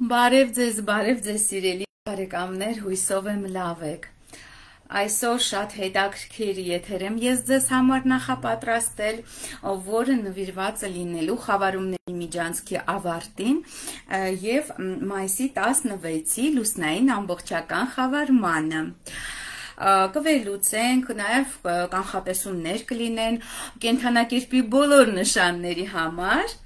Բարև ձեզ սիրելի բարեկամներ, հույսով եմ լավ եք։ Այսօր շատ հետաքրքիր եթեր եմ ես ձեզ համար նախապատրաստել, որը նվիրված է լինելու խավարումների միջանցքի ավարտին եւ մայիսի 16-ի լուսնային ամբողջական խավարմանը։ Կվերլուծենք, նաև կանխատեսումներ կլինեն կենդանակերպի բոլոր նշանների համար։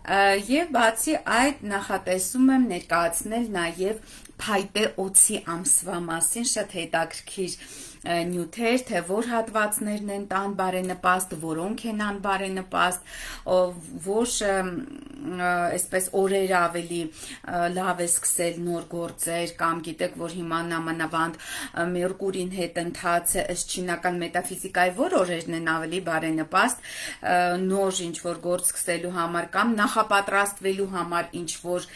Եվ բացի այդ նախատեսում եմ ներկայացնել նաև փայտե օձի ամսվա մասին շատ հետաքրքիր նյութեր, թե որ հատվածներն են տան բարենպաստ, որոնք են անբարենպաստ, որ այսպես օրեր ավելի լավ է սկսել նոր գործեր, կամ գիտեք, որ հիմա նամանավանդ Մերկուրին հետ ընթաց է, ըստ չինական մետաֆիզիկայի, որ օրերն են ավելի բարենպաստ նոր ինչ-որ գործ սկսելու համար, կամ նախապատրաստվելու համար ինչ-որ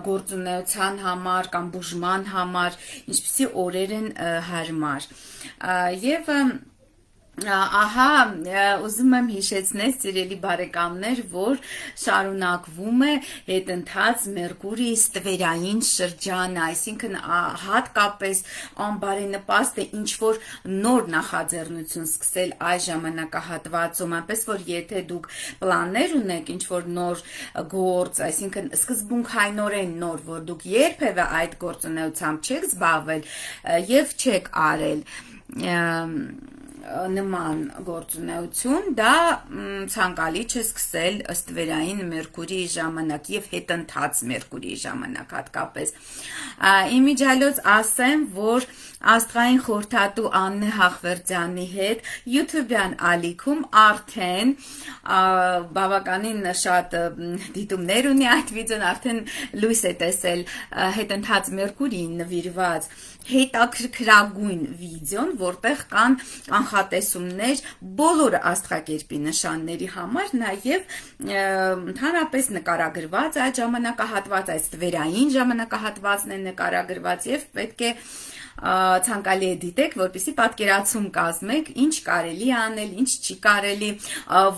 գործունեության համար կամ բուժման համար, ինչպիսի օրեր են հարմար։ Եվ ահա ուզում եմ հիշեցնել սիրելի բարեկամներ, որ շարունակվում է հետընթաց Մերկուրիի ստվերային շրջանը, այսինքն հատկապես անբարենպաստ է ինչ-որ նոր նախաձեռնություն սկսել այս ժամանակահատվածում, այնպես որ եթե դուք պլաններ ունեք ինչ-որ նոր գործ, այսինքն սկզբունքայնորեն նոր, որ դուք երբևէ այդ գործունեությամբ չեք զբաղվել եւ չեք արել նման գործունեություն, դա ցանկալի չէ սկսել ստվերային Մերկուրիի ժամանակ եւ հետընթաց Մերկուրիի ժամանակ հատկապես։ Իմիջիալոց ասեմ, որ աստղային խորհրդատու Աննե Հախվերդյանի հետ YouTube-յան ալիքում արդեն բավականին շատ դիտումներ ունի այդ վիդեոն, արդեն լույս է տեսել հետընթաց Մերկուրիին նվիրված հետաքրքրագույն վիդեոն, որտեղ կան կանխատեսումներ բոլոր աստղակերպի նշանների համար, նաև ընդհանրապես նկարագրված այդ ժամանակահատված, այդ ստվերային ժամանակահատվածն է նկարագրված եւ պետք է ցանկալի է դիտեք, որպեսզի պատկերացում կազմեք, ինչ կարելի անել, ինչ չի կարելի,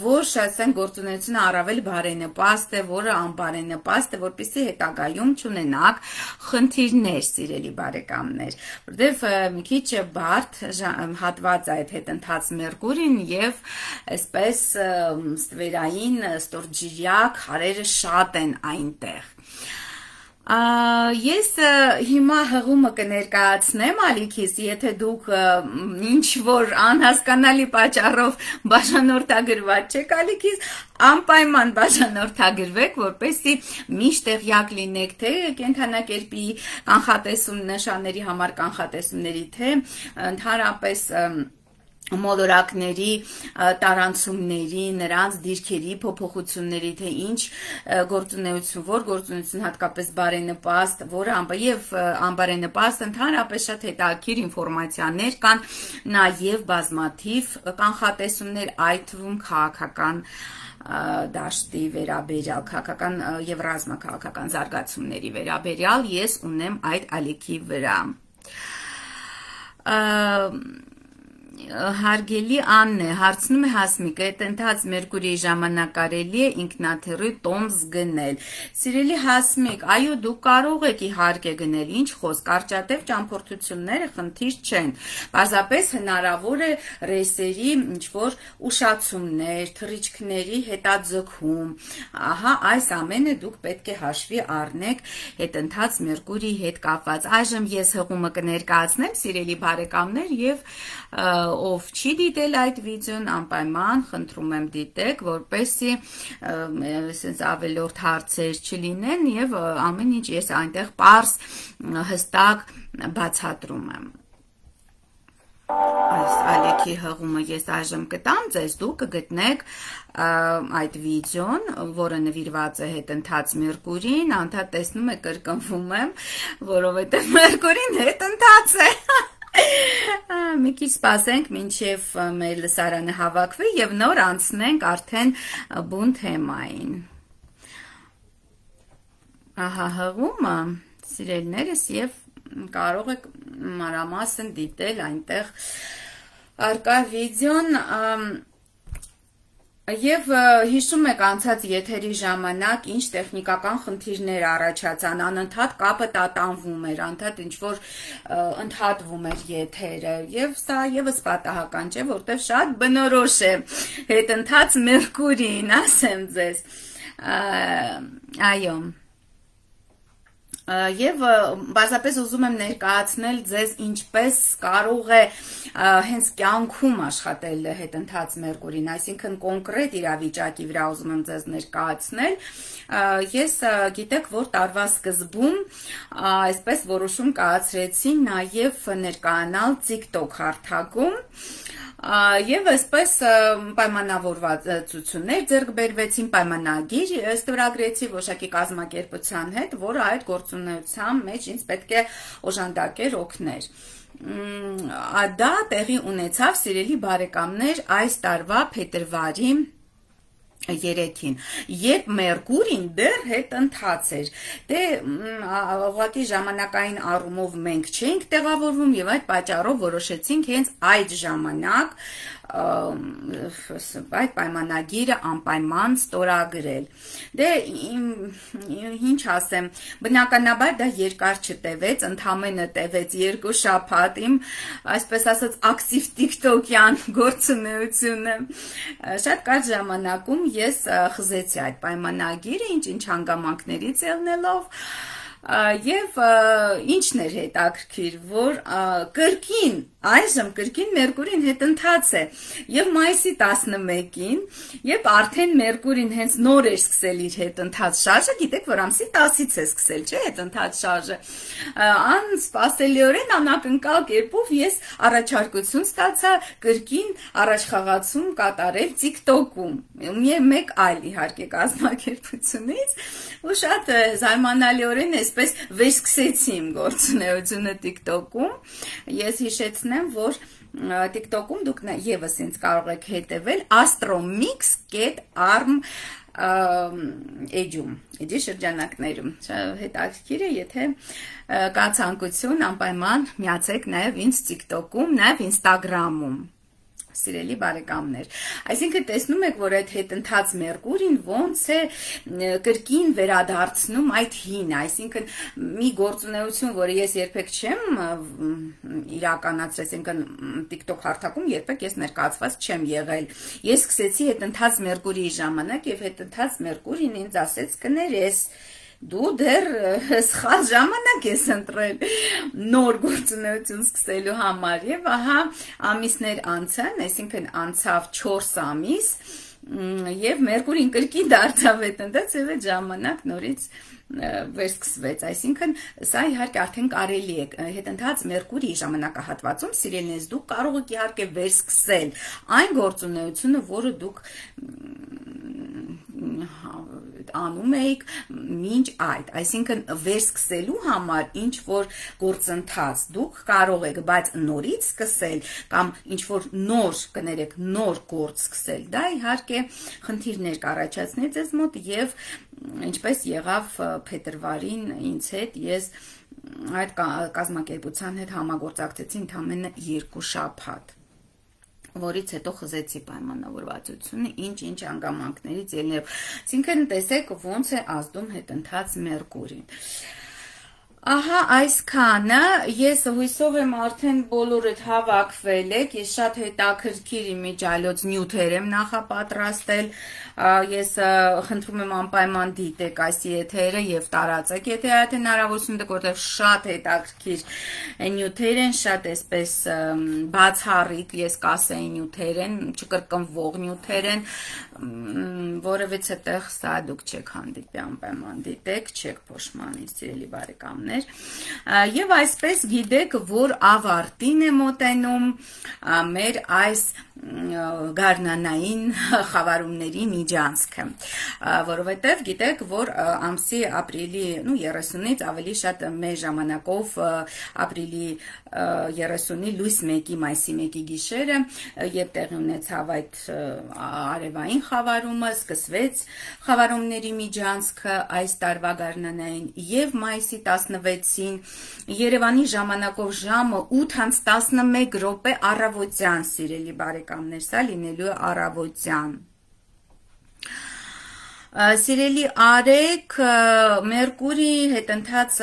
որ ասենք գործունեությունը առավել բարենպաստ է, որը անբարենպաստ է, որպեսզի հետագայում չունենաք խնդիրներ, սիրելի բարեկամներ, որտեղ մի քիչ բարդ հատված այդ հետընթաց Մերկուրին եւ այսպես ստվերային ստորջրյա քարերը շատ են այնտեղ։ Ես հիմա հղումը կներկայացնեմ ալիքիս, եթե դուք ինչ-որ անհասկանալի պատճառով բաժանորդագրված չեք ալիքիս, անպայման բաժանորդագրվեք, որպեսզի միշտ տեղյակ լինեք, թե կենդանակերպի կանխատեսում նշանների համար կանխատեսումների, թե ընդհանրապես մոլորակների տարանցումների, նրանց դիրքերի փոփոխությունների, թե ինչ գործունեություն, որ գործունեություն հատկապես բարենպաստ, որը եւ անբարենպաստ, ընդհանրապես շատ հետաքրքիր ինֆորմացիաներ կան, նաեւ բազմաթիվ կանխատեսումներ, այդ թվում քաղաքական դաշտի վերաբերյալ, քաղաքական եւ ռազմաքաղաքական զարգացումների վերաբերյալ ես ունեմ այդ ալիքի վրա։ Հարգելի Աննե, հարցնում է Հասմիկը, հետընթաց Մերկուրիի ժամանակ կարելի է ինքնաթիռի տոմս գնել։ Սիրելի Հասմիկ, այո, դուք կարող եք իհարկե գնել, ինչ խոսք, կարճատև ճամփորդությունները խնդիր չեն։ Պարզապես հնարավոր է ռեյսերի ինչ-որ ուշացումներ, թռիչքների հետաձգում։ Ահա այս ամենը դուք պետք է հաշվի առնեք հետընթաց Մերկուրիի հետ կապված։ Այժմ ես հղումը կներկայացնեմ, սիրելի բարեկամներ, եւ ով չի դիտել այդ վիդեոն, անպայման խնդրում եմ դիտեք, որպեսզի sense ավելորդ հարցեր չլինեն եւ ամեն ինչ ես այնտեղ պարզ հստակ բացատրում եմ։ Այս ալիքի հղումը ես այժմ կտամ ձեզ, դուք կգտնեք այդ վիդեոն, որը նվիրված է հետընթաց Մերկուրիին, անդադ տեսնում եք կրկնվում եմ, որովհետեւ Մերկուրին հետընթաց է։ Մի քիչ սպասենք, մինչև մեր լսարանը հավաքվի եւ նոր անցնենք արդեն բուն թեմային։ Ահա հղումը, սիրելիներս, եւ կարող եք մանրամասն դիտել այնտեղ արկա վիդեոն, Եվ հիշում եք անցած եթերի ժամանակ ինչ տեխնիկական խնդիրներ առաջացան, անընդհատ կապը տատանվում էր, անընդհատ ինչ-որ ընդհատվում էր եթերը, եւ սա եւս պատահական չէ, որտեղ շատ բնորոշ է հետընթաց Մերկուրին, ասեմ ձեզ, այո, Եվ բազապես ուզում եմ ներկայացնել ձեզ ինչպես կարող է հենց կյանքում աշխատել հետընթաց Մերկուրին, այսինքն կոնկրետ իրավիճակի վրա ուզում եմ ձեզ ներկայացնել, ես գիտեք, որ տարվա սկզբում այսպես որոշում կայացրեցի նաև ներկայանալ TikTok հարթակում, Եվ այսպես պայմանավորվածություններ ձեռք բերվեցին, պայմանագիր ստորագրեցի որոշակի կազմակերպության հետ, որը այդ գործունեության մեջ ինձ պետք է օժանդակեր, օգներ։ Դա տեղի ունեցավ, սիրելի բարեկամներ, այս տարվա փետրվարի 3-ին, երբ Մերկուրին դեռ հետընթաց էր, դե ուղղակի ժամանակային առումով մենք չէինք տեղավորվում եւ այդ պատճառով որոշեցինք հենց այդ ժամանակ այդ պայմանագիրը անպայման ստորագրել։ Դե ինչ ասեմ, բնականաբար դա երկար չտևեց, ընդամենը տևեց 2 շաբաթ իմ, այսպես ասած, ակտիվ TikTok-յան գործունեությունը։ Շատ կարճ ժամանակում ես խզեցի այդ պայմանագիրը, ինչ հանգամանքներից ելնելով, եւ ինչն էր հետաքրքիր, որ կրկին այժմ կրկին Մերկուրին հետընթաց է եւ մայիսի 11-ին, երբ արդեն Մերկուրին հենց նոր էր սկսել իր հետընթաց շարժը, գիտեք, որ ամսի 10-ից է սկսել, չէ՞, հետընթաց շարժը, անսպասելիորեն անակնկալ կերպով ես առաջարկություն ստացա կրկին առաջխաղացում կատարել TikTok-ում, մեկ այլ իհարկե կազմակերպությունից, ու շատ զարմանալիորեն այսպես վերսկսեցի իմ գործունեությունը TikTok-ում, ես հիշեցնեմ, որ TikTok-ում դուք եւս ինձ կարող եք հետևել astromix.arm էջի շրջանակներում, հետաքրքիր է, եթե կա ցանկություն, անպայման միացեք նաեւ ինձ TikTok-ում, նաեւ Instagram-ում, սիրելի բարեկամներ, այսինքն տեսնում եք, որ այդ հետընթաց Մերկուրին ոնց է կրկին վերադարձնում այդ հին, այսինքն մի գործունեություն, որը ես երբեք չեմ իրականացրել, այսինքն TikTok հարթակում երբեք ես ներկայացված չեմ եղել, ես սկսեցի հետընթաց Մերկուրիի ժամանակ եւ հետընթաց Մերկուրին ինձ ասեց կներես, դու դեռ սխալ ժամանակ ես ընտրել նոր գործունեություն սկսելու համար եւ ահա ամիսներ անցան, այսինքն անցավ 4 ամիս եւ Մերկուրին կրկին դարձավ հետընթաց եւ այդ ժամանակ նորից վերսկսվեց, այսինքն սա իհարկե արդեն կարելի է հետընթաց Մերկուրիի ժամանակահատվածում սիրելիներս դուք կարող եք իհարկե վերսկսել այն գործունեությունը, որը դուք անում էիք մինչ այդ, այսինքն վերսկսելու համար ինչ որ գործընթաց դուք կարող եք, բայց նորից սկսել կամ ինչ որ նոր, կներեք, նոր գործ սկսել, դա իհարկե խնդիրներ կառաջացնի ձեզ մոտ եւ ինչպես եղավ փետրվարին ինձ հետ, ես այդ կազմակերպության հետ համագործակցեցի ընդամենը 2 շաբաթ, որից հետո խզեցի պայմանավորվածությունը, ինչ հանգամանքներից ելնելով, այսինքն տեսեք ոնց է ազդում հետընթաց Մերկուրին։ Ահա այսքանը, ես հույսով եմ արդեն բոլորդ հավաքվել եք, ես շատ հետաքրքիր իմիջիայլոց նյութեր եմ նախապատրաստել, ես խնդրում եմ անպայման դիտեք այս եթերը եւ տարածեք, եթե այդ հնարավորություն դուք, որտեղ շատ հետաքրքիր նյութեր են, շատ այսպես բացառիկ, ես կասեի նյութեր են, չկրկնվող նյութեր են, որևիցե տեղ սա դուք չեք հանդիպի, անպայման դիտեք, չեք փոշմանի, սիրելի բարեկամներ։ Եվ այսպես գիտեք, որ ավարտին է մոտենում մեր այս գարնանային խավարումների միջանցքը, որովհետև գիտեք, որ ամսի ապրիլի 30-ից ավելի շատ մեր ժամանակով ապրիլի 30-ի լույս 1-ի մայիսի 1-ի գիշերը, երբ տեղի ունեցավ այդ արևային խավարումը, սկսվեց խավարումների միջանցքը այս տարվա գարնանային եւ մայիսի 16-ին Երևանի ժամանակով ժամը 8:11 րոպե առավոտյան, սիրելի բարեկամներ, սա լինելու է առավոտյան։ Սիրելի Արեգ, Մերկուրի հետընթաց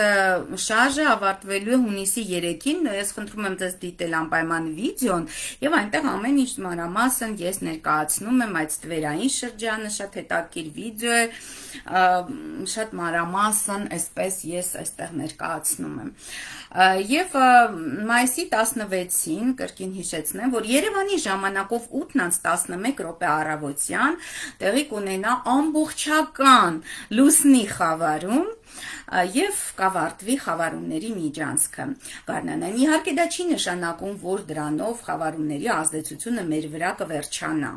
շարժը ավարտվելու է հունիսի 3-ին, ես խնդրում եմ ձեզ դիտել անպայման վիդեոն եւ այնտեղ ամեն ինչ մանրամասն ես ներկայացնում եմ այդ ստվերային շրջանը, շատ հետաքրքիր վիդեո է, շատ մանրամասն այսպես ես այստեղ ներկայացնում եմ։ Եվ մայիսի 16-ին կրկին հիշեցնեմ, որ Երևանի ժամանակով 8:11 րոպե առավոտյան տեղի կունենա ամբողջական լուսնի խավարում եւ կավարտվի խավարումների միջանցքը։ Գարնանային իհարկե դա չի նշանակում, որ դրանով խավարումների ազդեցությունը մեր վրա կվերջանա։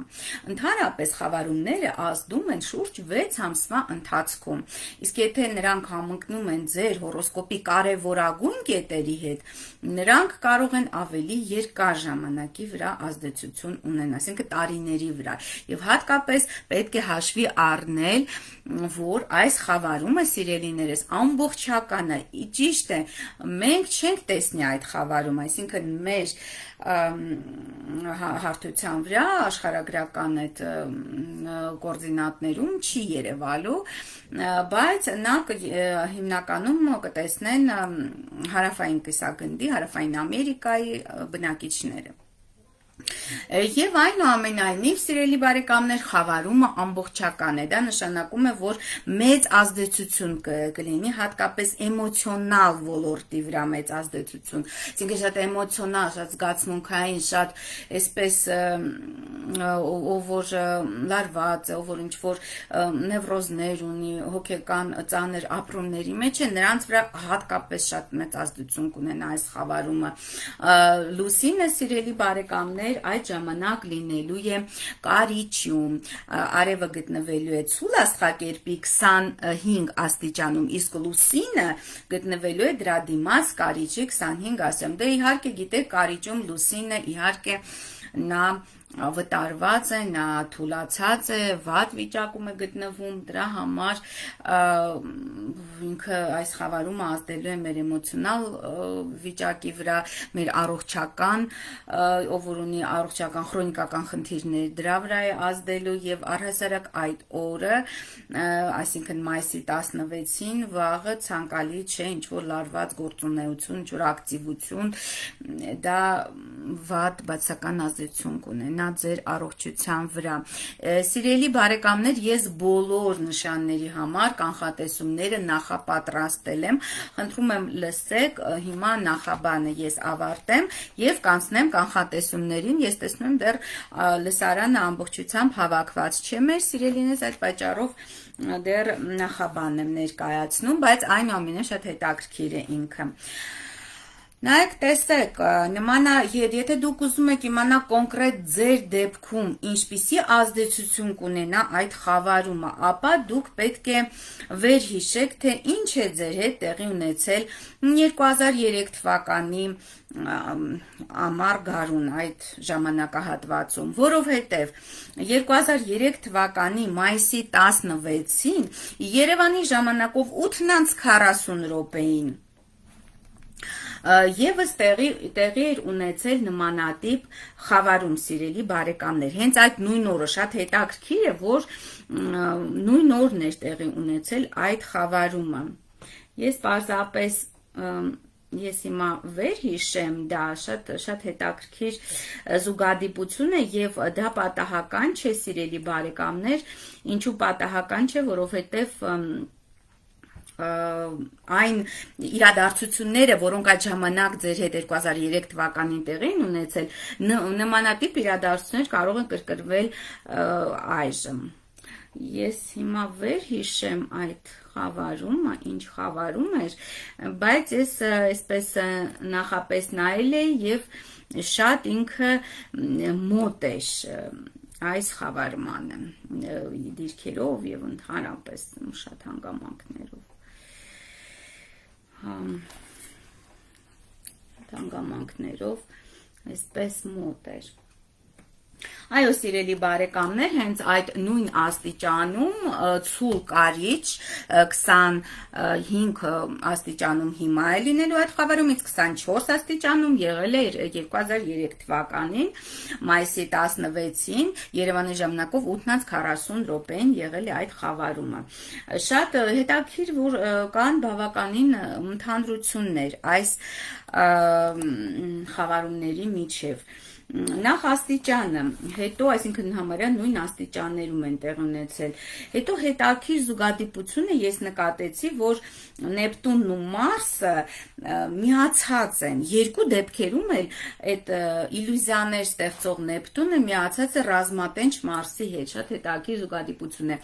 Ընդհանրապես խավարումները ազդում են շուրջ 6 ամսվա ընթացքում։ Իսկ եթե նրանք համընկնում են ձեր հորոսկոպի կարևորագույն կետերի հետ, նրանք կարող են ավելի երկար ժամանակի վրա ազդեցություն ունենալ, այսինքն տարիների վրա։ Եվ հատկապես պետք է հաշվի առնել, որ այս խավարումը, սիրելիներս, ամբողջական է, ճիշտ է, մենք չենք տեսնի այդ խավարում, այսինքն մեր հարթության վրա աշխարհագրական այդ կոորդինատներում չի երևալու, բայց նա հիմնականում կտեսնեն հարավային կիսագնդի, հարավային Ամերիկայի բնակիչները։ Եվ այնուամենայնիվ, սիրելի բարեկամներ, խավարումը ամբողջական է, դա նշանակում է, որ մեծ ազդեցություն կլինի, հատկապես էմոցիոնալ ոլորտի վրա մեծ ազդեցություն, այսինքն շատ էմոցիոնալ, շատ զգացմունքային, շատ այսպես ով որ լարված է, ով որ ինչ-որ նևրոզներ ունի, հոգեկան ծանր ապրումների մեջ է, նրանց վրա հատկապես շատ մեծ ազդեցություն կունենա այս խավարումը։ Լուսինը, սիրելի բարեկամներ, այդ ժամանակ լինելու է կարիճում, արևը գտնվելու է ցուլ աստղակերպի 25 աստիճանում, իսկ լուսինը գտնվելու է դրա դիմաց կարիճի 25 աստիճանում։ Դե իհարկե գիտեք, կարիճում լուսինը իհարկե նա վտարված է, նա թուլացած է, վատ վիճակում է գտնվում, դրա համար ինքը այս խավարումը ազդելու է մեր էմոցիոնալ վիճակի վրա, մեր առողջական, ով որ ունի առողջական քրոնիկական խնդիրներ, դրա վրա է ազդելու եւ առհասարակ այդ օրը, այսինքն մայիսի 16-ին վաղը ցանկալի չէ ինչ որ լարված գործունեություն, ինչ որ ակտիվություն, դա վատ բացական ազդեցություն կունենա ձեր առողջության վրա։ Սիրելի բարեկամներ, ես բոլոր նշանների համար կանխատեսումները նախապատրաստել եմ, խնդրում եմ լսեք, հիմա նախաբանը ես ավարտեմ եւ կանցնեմ կանխատեսումներին, ես տեսնում եմ դեռ լսարանը ամբողջությամբ հավաքված չէ մեր սիրելիներս, այդ պատճառով դեռ նախաբանն եմ ներկայացնում, բայց այնուամենայնիվ շատ հետաքրքիր է ինքը։ Նայեք, տեսեք, եթե դուք ուզում եք իմանալ կոնկրետ ձեր դեպքում ինչպիսի ազդեցություն կունենա այդ խավարումը, ապա դուք պետք է վերհիշեք, թե ինչ է ձեր հետ տեղի ունեցել 2003 թվականի ամառ գարուն այդ ժամանակահատվածում, որովհետև 2003 թվականի մայիսի 16-ին Երևանի ժամանակով 8:40 րոպեին Եվս տեղի էր ունեցել նմանատիպ խավարում, սիրելի բարեկամներ, հենց այդ նույն օրը շատ հետաքրքիր է, որ նույն օրն էր տեղի ունեցել այդ խավարումը։ Ես պարզապես ես հիմա վերհիշեմ, դա շատ հետաքրքիր զուգադիպություն է եւ դա պատահական չէ, սիրելի բարեկամներ, ինչու պատահական չէ, որովհետեւ այն իրադարձությունները, որոնք այդ ժամանակ ձեր հետ 2003 թվականին տեղի են ունեցել, նմանատիպ իրադարձություններ կարող են կրկնվել այժմ։ Ես հիմա վերհիշեմ այդ խավարումը, ինչ խավարում էր, բայց ես այսպես նախապես նայել էի եւ շատ ինքը մոտ էր այս խավարմանը դիրքերով եւ ընդհանրապես շատ հանգամանքներով։ Հանգամանքներով այսպես մոտ էր։ Այո, սիրելի բարեկամներ, հենց այդ նույն աստիճանում ցուլ կարիճ 25 աստիճանում հիմա է լինելու այդ խավարումից 24 աստիճանում եղել է 2003 թվականին մայիսի 16-ին Երևանի ժամանակով 8:40 րոպեին եղել է այդ խավարումը։ Շատ հետաքրքիր, որ կան բավականին ընդհանրություններ այս խավարումների միջև։ Նախ աստիճանը, հետո, այսինքն համարյա նույն աստիճաններում են տեղ ունեցել։ Հետո հետաքրքիր զուգադիպությունը ես նկատեցի, որ Նեպտունն ու Մարսը միացած են։ Երկու դեպքերում էլ այդ իլյուզիաներ ստեղծող Նեպտունը միացած է ռազմատենչ Մարսի հետ, շատ հետաքրքիր զուգադիպություն է։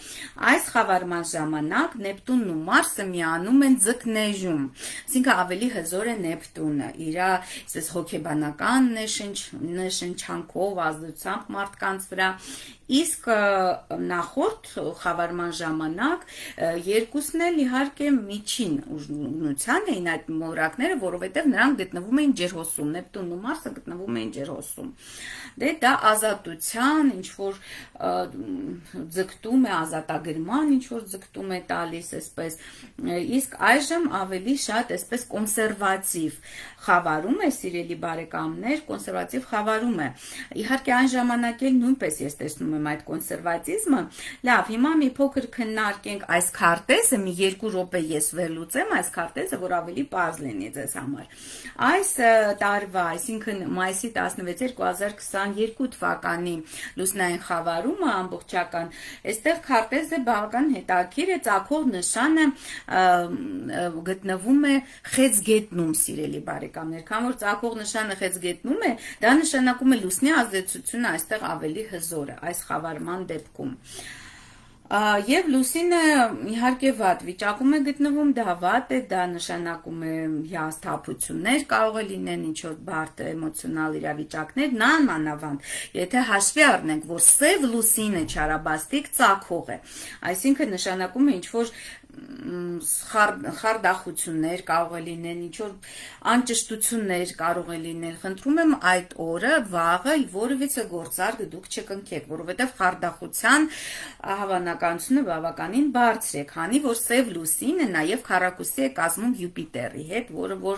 Այս խավարման ժամանակ Նեպտունն ու Մարսը միանում են ձկներում, այսինքն ավելի հզոր է Նեպտունը, իր այսպես հոգեբանական նշանչանքով, ազդեցությամբ մարդկանց վրա, իսկ նախորդ խավարման ժամանակ երկուսն էլ իհարկե միջին ուժգնության էին այդ մոլորակները, որովհետև նրանք գտնվում էին ջերհոսում, Նեպտունն ու Մարսը գտնվում էին ջերհոսում։ Դե դա ազատության, ինչ որ ձգտում է, ազատագրման ինչ որ ձգտում է տալիս, այսպես, իսկ այժմ ավելի շատ այսպես կոնսերվատիվ խավարում է, սիրելի բարեկամներ, կոնսերվատիվ խավարում է։ Իհարկե այն ժամանակ էլ նույնպես ես տեսնում եմ այդ կոնսերվատիզմը։ Լավ, հիմա մի փոքր քննարկենք այս քարտեզը, մի 2 րոպե ես վերլուծեմ այս քարտեզը, որ ավելի պարզ լինի ձեզ համար։ Այս տարվա, այսինքն մայիսի 16 2022 թվականի լուսնային խավարումը ամբողջական, այստեղ քարտեզը բավական հետաքրքիր է, ծագող նշանը գտնվում է խեցգետնում, սիրելի բարեկամներ, քան որ ծագող նշանը խեցգետնում է, դա նշանակում է լուսնի ազդեցությունը այստեղ ավելի հզոր է այս խավարման դեպքում։ Եվ լուսինը իհարկե վատ վիճակում է գտնվում, դա վատ է, դա նշանակում է հիասթափություններ կարող է լինեն, ինչ որ բարդ էմոցիոնալ իրավիճակներ, մանավանդ, եթե հաշվի առնենք, որ սև լուսինը չարաբաստիկ ծագող է, այսինքն նշանակում է ինչ որ խարդախություններ կարող է լինեն, ինչ որ անճշտություններ կարող է լինել, խնդրում եմ այդ օրը, վաղը որևիցե գործարք դուք չկնքեք, որովհետև խարդախության հավանականությունը բավականին բարձր է, քանի որ սև լուսինը նաև քառակուսի է կազմում Յուպիտերի հետ, որը որ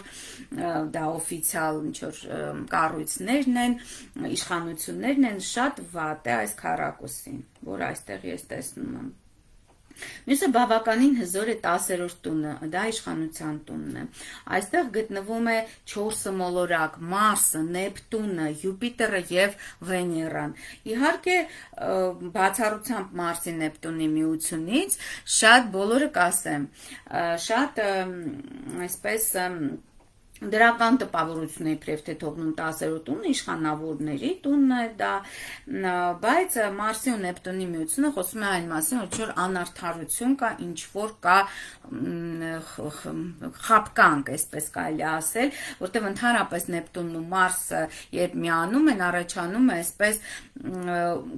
դա օֆիցիալ ինչ որ կառույցներն են, իշխանություններն են, շատ վատ է այս քառակուսին, որ այստեղ ես տեսնում եմ։ Մյուսը բավականին հզոր է 10-րդ տունը, դա իշխանության տունն է։ Այստեղ գտնվում է 4 մոլորակ՝ Մարսը, Նեպտունը, Յուպիտերը եւ Վեներան։ Իհարկե, բացառությամբ Մարսի Նեպտունի միությունից, շատ բոլորը կասեմ, շատ այսպես դրական տպավորություն է իբրև թե թողնում 10-րդ տունը, իշխանավորների տունն է դա, բայց Մարսի ու Նեպտունի միությունը խոսում է այն մասին, որ ինչ-որ անարդարություն կա, ինչ-որ կա խաբկանք, այսպես կարելի ասել, որտեղ ընդհանրապես Նեպտունն ու Մարսը երբ միանում են, առաջանում է այսպես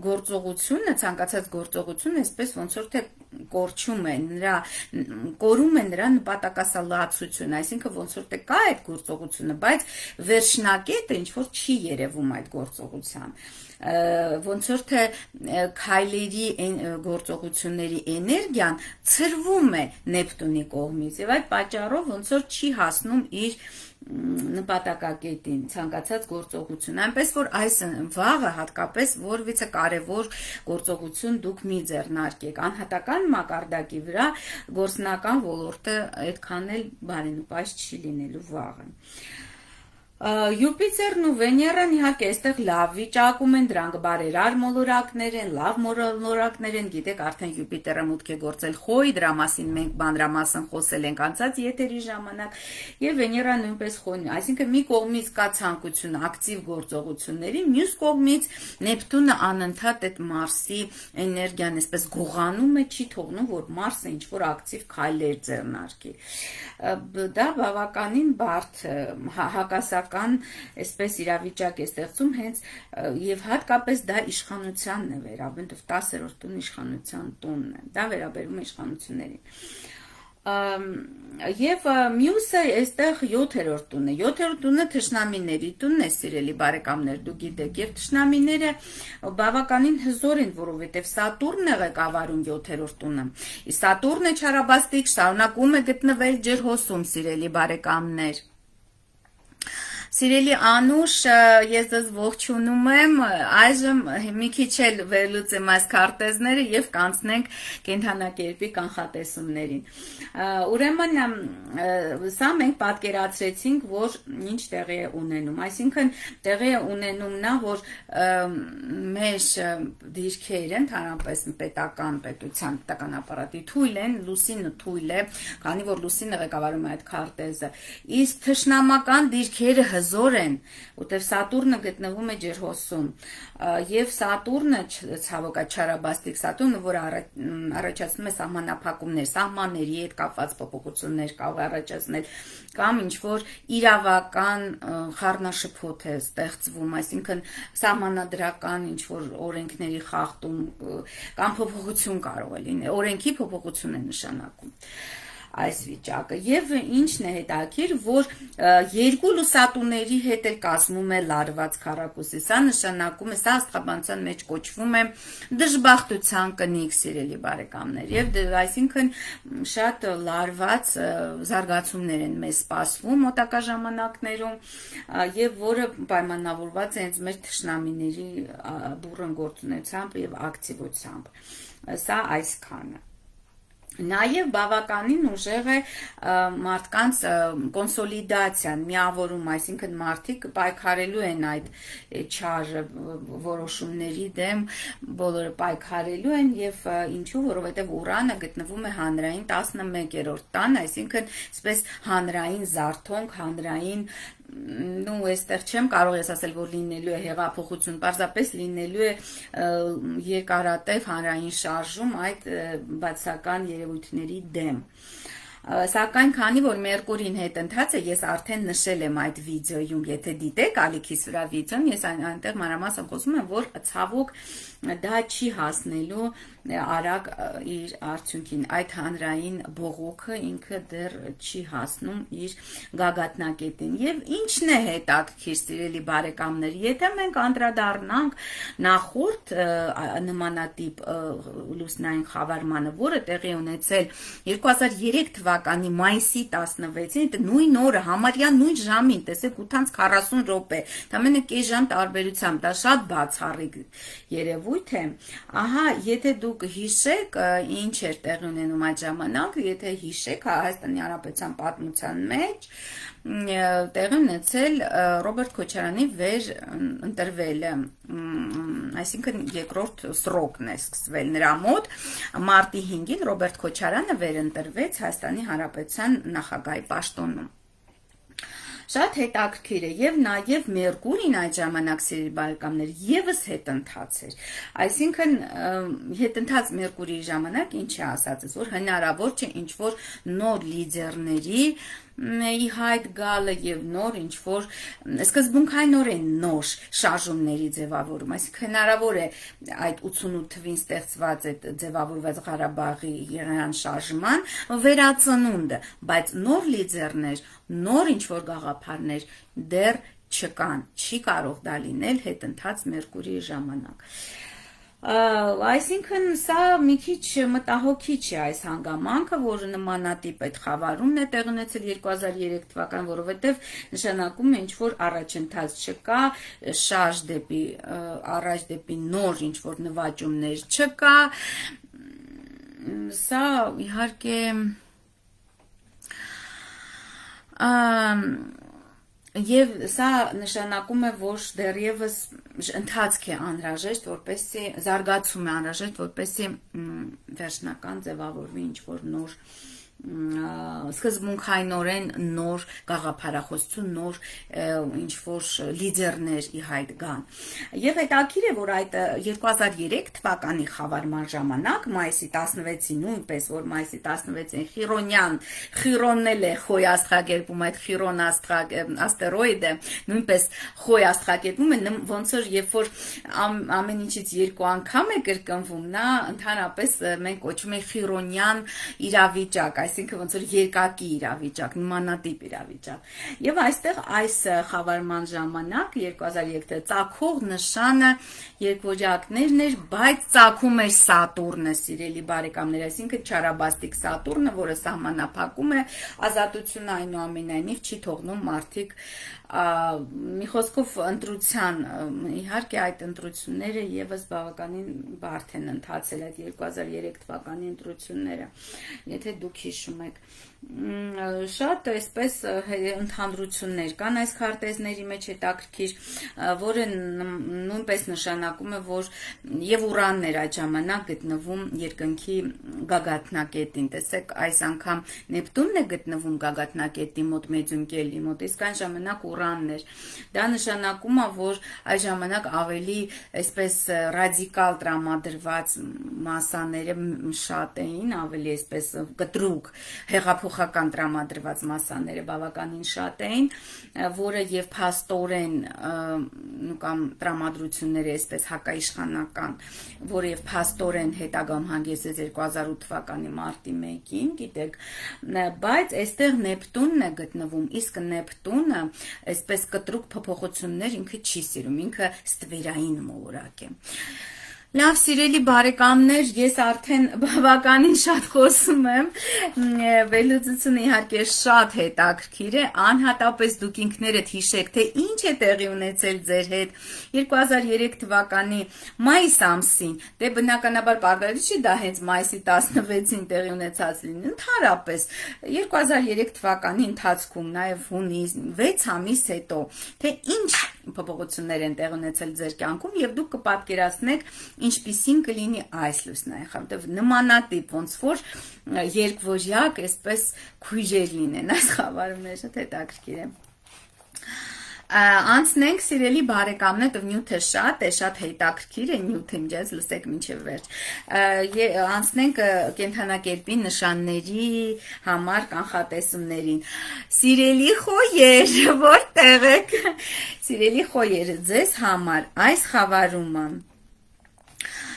գործողությունը, ցանկացած գործողությունը, այսպես ոնց որ թե կորչում է, կորում է նրա նպատակասլացությունը, այսինքն ոնց որ թե կա այդ գործողությունը, բայց վերջնակետը ինչ որ չի երևում այդ գործողության, ոնց որ թե քայլերի գործողությունների էներգիան ցրվում է Նեպտունի կողմից եւ այդ պատճառով ոնց որ չի հասնում իր նպատակակետին, ցանկացած գործողություն, այնպես որ այս վաղը հատկապես որևիցե կարևոր գործողություն դուք մի ձեռնարկեք, անհատական մակարդակի վրա գործնական ոլորտը այդքան էլ բարենպաստ չի լինելու վաղը։ Յուպիտերն ու Վեներան իհարկե այստեղ լավ վիճակում են, դրանք բարերար մոլորակներ են, լավ մոլորակներ են, գիտեք, արդեն Յուպիտերը մուտք է գործել Խոյ, դրա մասին մենք մանրամասն խոսել ենք անցած եթերի ժամանակ, եւ Վեներան նույնպես Խոյն, այսինքն մի կողմից կա ցանկություն ակտիվ գործողությունների, մյուս կողմից Նեպտունը անընդհատ այդ Մարսի էներգիան այսպես գողանում է, չի թողնում, որ Մարսը ինչ որ ակտիվ քայլեր ձեռնարկի։ Դա բավականին բարդ հակասական այսպես իրավիճակ է ստեղծում հենց եւ հատկապես դա իշխանությանն է վերաբերում, 10-րդ տուն իշխանության տունն է, դա վերաբերում է իշխանություններին։ Եվ մյուսը այստեղ 7-րդ տունն է։ 7-րդ տունը թշնամիների տունն է, սիրելի բարեկամներ, դուք գիտեք, եւ թշնամիները բավականին հզոր են, որովհետեւ Սատուրնն է ղեկավարում 7-րդ տունը։ Իսկ Սատուրնը չարաբաստիկ շարունակում է գտնվել ջրհոսում, սիրելի բարեկամներ։ Սիրելի Անուշ, ես ձեզ ողջունում եմ, այժմ մի քիչ էլ վերլուծեմ այս քարտեզները եւ կանցնենք կենդանակերպի կանխատեսումներին։ Ուրեմն սա մենք պատկերացրեցինք, որ ինչ տեղի է ունենում, այսինքն տեղի է ունենում նա, որ մեր դիրքերը, ընդհանրապես պետական պետության պետական ապարատի թույլ են, լուսինը թույլ է, քանի որ լուսինը ղեկավարում է այդ քարտեզը, իսկ թշնամական դիրքերը հզոր են, որտեղ Սատուրնը գտնվում է ջրհոսում, եւ Սատուրնը ցավոք չարաբաստիկ Սատուրնը, որ առաջացնում է սահմանափակումներ, սահմանների հետ կապված փոփոխություններ կարող է առաջացնել, կամ ինչ որ իրավական խառնաշփոթ է ստեղծվում, այսինքն սահմանադրական ինչ որ օրենքների խախտում կամ փոփոխություն կարող է լինել, օրենքի փոփոխություն է նշանակում այս վիճակը եւ ինչն է հետաքրքիր, որ երկու լուսատուների հետ էլ կազմում է լարված քառակուսի, սա նշանակում է, սա աստղաբանության մեջ կոչվում է դժբախտության կնիկ, սիրելի բարեկամներ, եւ այսինքն շատ լարված զարգացումներ են մեզ սպասվում մոտակա ժամանակներում եւ որը պայմանավորված է հենց մեր թշնամիների բուռն գործունեությամբ եւ ակտիվությամբ, սա այսքանը։ Նաև բավականին ուժեղ է մարդկանց կոնսոլիդացիան, միավորում, այսինքն մարդիկ պայքարելու են այդ չար որոշումների դեմ, բոլորը պայքարելու են եւ ինչու, որովհետեւ Ուրանը գտնվում է հանրային 11-րդ տան, այսինքն այսպես հանրային զարթոնք, հանրային այստեղ չեմ կարող ես ասել, որ լինելու է հեղափոխություն, պարզապես լինելու է երկարատև հանրային շարժում այդ բացական երևույթների դեմ։ Սակայն քանի որ Մերկուրին հետընթաց է, ես արդեն նշել եմ այդ վիդեոյում, եթե դիտեք ալիքիս վրա վիդեոն, ես այնտեղ մանրամասն խոսում եմ, որ ցավոք դա չի հասնելու արագ իր արդյունքին, այդ հանրային բողոքը ինքը դեռ չի հասնում իր գագաթնակետին։ Եվ ինչն է հետաքրքիր, սիրելի բարեկամներ, եթե մենք անդրադառնանք նախորդ նմանատիպ լուսնային խավարմանը, որը տեղի ունեցել 2003 թվականի մայիսի 16-ին, նույն օրը, համարյա նույն ժամին, տեսեք 8:40 րոպե, դա մենը կես ժամ տարբերությամբ, դա շատ բացառիկ երևույթ է։ Ահա, եթե դուք հիշեք, ինչ էր տեղի ունենում այդ ժամանակ, եթե հիշեք, Հայաստանի Հանրապետության պատմության մեջ տեղի ունեցել Ռոբերտ Քոչարյանի վեր ընտրվելը, այսինքն երկրորդ սրոկն է սկսվել նրա մոտ, մարտի 5-ին Ռոբերտ Քոչարյանը վեր ընտրվեց Հայաստանի Հանրապետության նախագահի պաշտոնում։ Շատ հետաքրքիր է եւ նաեւ Մերկուրին այդ ժամանակ, սիրելի բարեկամներ, եւս հետընթաց էր, այսինքն հետընթաց Մերկուրիի ժամանակ ինչ է ասածս, որ հնարավոր չէ ինչ որ նոր լիդերների ի հայտ գալը եւ նոր ինչ որ սկզբունքայինորեն նոր շարժումների ձևավորում, այսինքն հնարավոր է այդ 88 թվին ստեղծված այդ ձևավորված Ղարաբաղի Իրանյան շարժման վերածնունդը, բայց նոր լիդերներ, նոր ինչ որ գաղափարներ դեռ չկան, չի կարող դա լինել հետընթաց Մերկուրիի ժամանակ։ Այսինքն սա մի քիչ մտահոգիչ է այս հանգամանքը, որը նմանատիպ այդ խավարումն է տեղի ունեցել 2003 թվական, որովհետև նշանակում է ինչ որ առաջընթաց չկա, շարժ դեպի առաջ դեպի նոր ինչ որ նվաճումներ չկա։ Սա իհարկե Եվ սա նշանակում է, որ դեռևս ընթացք է անհրաժեշտ, որպեսզի զարգացում է անհրաժեշտ, որպեսզի վերջնական ձևավորվի ինչ որ նոր սկզբունքայինորեն նոր գաղափարախոսություն, նոր ինչ որ լիդերներ ի հայտ գան։ Եվ հետաքրքիր է, որ այդ 2003 թվականի խավարման ժամանակ, մայիսի 16-ին, նույնպես որ մայիսի 16-ին Խիրոնն է խոյ աստղագերբում, այդ Խիրոն աստերոիդը նույնպես խոյ աստղագերբում է, ոնց որ երբ որ ամեն ինչից երկու անգամ է կրկնվում, նա ընդհանրապես մենք կոչում ենք Խիրոնյան իրավիճակ, այսինքն ոնց որ երկակի իրավիճակ, նմանատիպ իրավիճակ։ Եվ այստեղ այս խավարման ժամանակ 2003 ծագող նշանը երկվորյակներն էր, բայց ծագում էր Սատուրնը, սիրելի բարեկամներ, այսինքն չարաբաստիկ Սատուրնը, որը սահմանափակում է ազատությունը, այնուամենայնիվ չի թողնում մարդիկ մի խոսքով ընտրության, իհարկե այդ ընտրությունները եւս բավականին բարդ են ընթացել, այդ 2003 թվականի ընտրությունները, եթե դուք հիշում եք, շատ այսպես ընդհանրություններ կան այս քարտեզների մեջ հետաքրքիր, որը նույնպես նշանակում է, որ եւ Ուրանն էր այդ ժամանակ գտնվում երկնքի գագաթնակետին, տեսեք, այս անգամ Նեպտունն է գտնվում գագաթնակետի մոտ, մեդիում կելի մոտ, իսկ այն ժամանակ Ուրանն էր, դա նշանակում է, որ այս ժամանակ ավելի այսպես ռադիկալ տրամադրված մասաները շատ էին, ավելի այսպես կտրուկ հեղափոխական տրամադրված մասաները բավականին շատ էին, որը եւ փաստորեն կամ տրամադրությունները այսպես հակաիշխանական, որը եւ փաստորեն հետագայում հանգեցրեց 2008 թվականի մարտի 1-ին, գիտեք, բայց այստեղ Նեպտունն է գտնվում, իսկ Նեպտունը այսպես կտրուկ փոփոխություններ ինքը չի սիրում, ինքը ստվերային մոլորակ է։ Լավ, սիրելի բարեկամներ, ես արդեն բավականին շատ խոսում եմ, վերլուծությունը իհարկե շատ հետաքրքիր է, անհատապես դուք ինքներդ հիշեք, թե ինչ է տեղի ունեցել ձեր հետ 2003 թվականի մայիս ամսին, դե բնականաբար պարբերից չի դա հենց մայիսի 16-ին տեղի ունեցած լինի, ընդհանրապես 2003 թվականի ընթացքում, նաև հունիս 6 ամիս հետո, թե ինչ փոփոխություններ են տեղ ունեցել ձեր կյանքում եւ դուք կպատկերացնեք ինչպիսին կլինի այս լուսնային խավարը, նմանատիպ ոնց որ երկվորյակ այսպես քույրեր լինեն այս խավարումները, շատ հետաքրքիր է։ Անցնենք սիրելի բարեկամներ, նյութը շատ է, շատ հետաքրքիր է նյութը, ինձ լսեք մինչև վերջ։ Անցնենք կենդանակերպի նշանների համար կանխատեսումներին։ Սիրելի խոյեր, որտեղ եք։ Սիրելի խոյեր, ձեզ համար այս խավարումը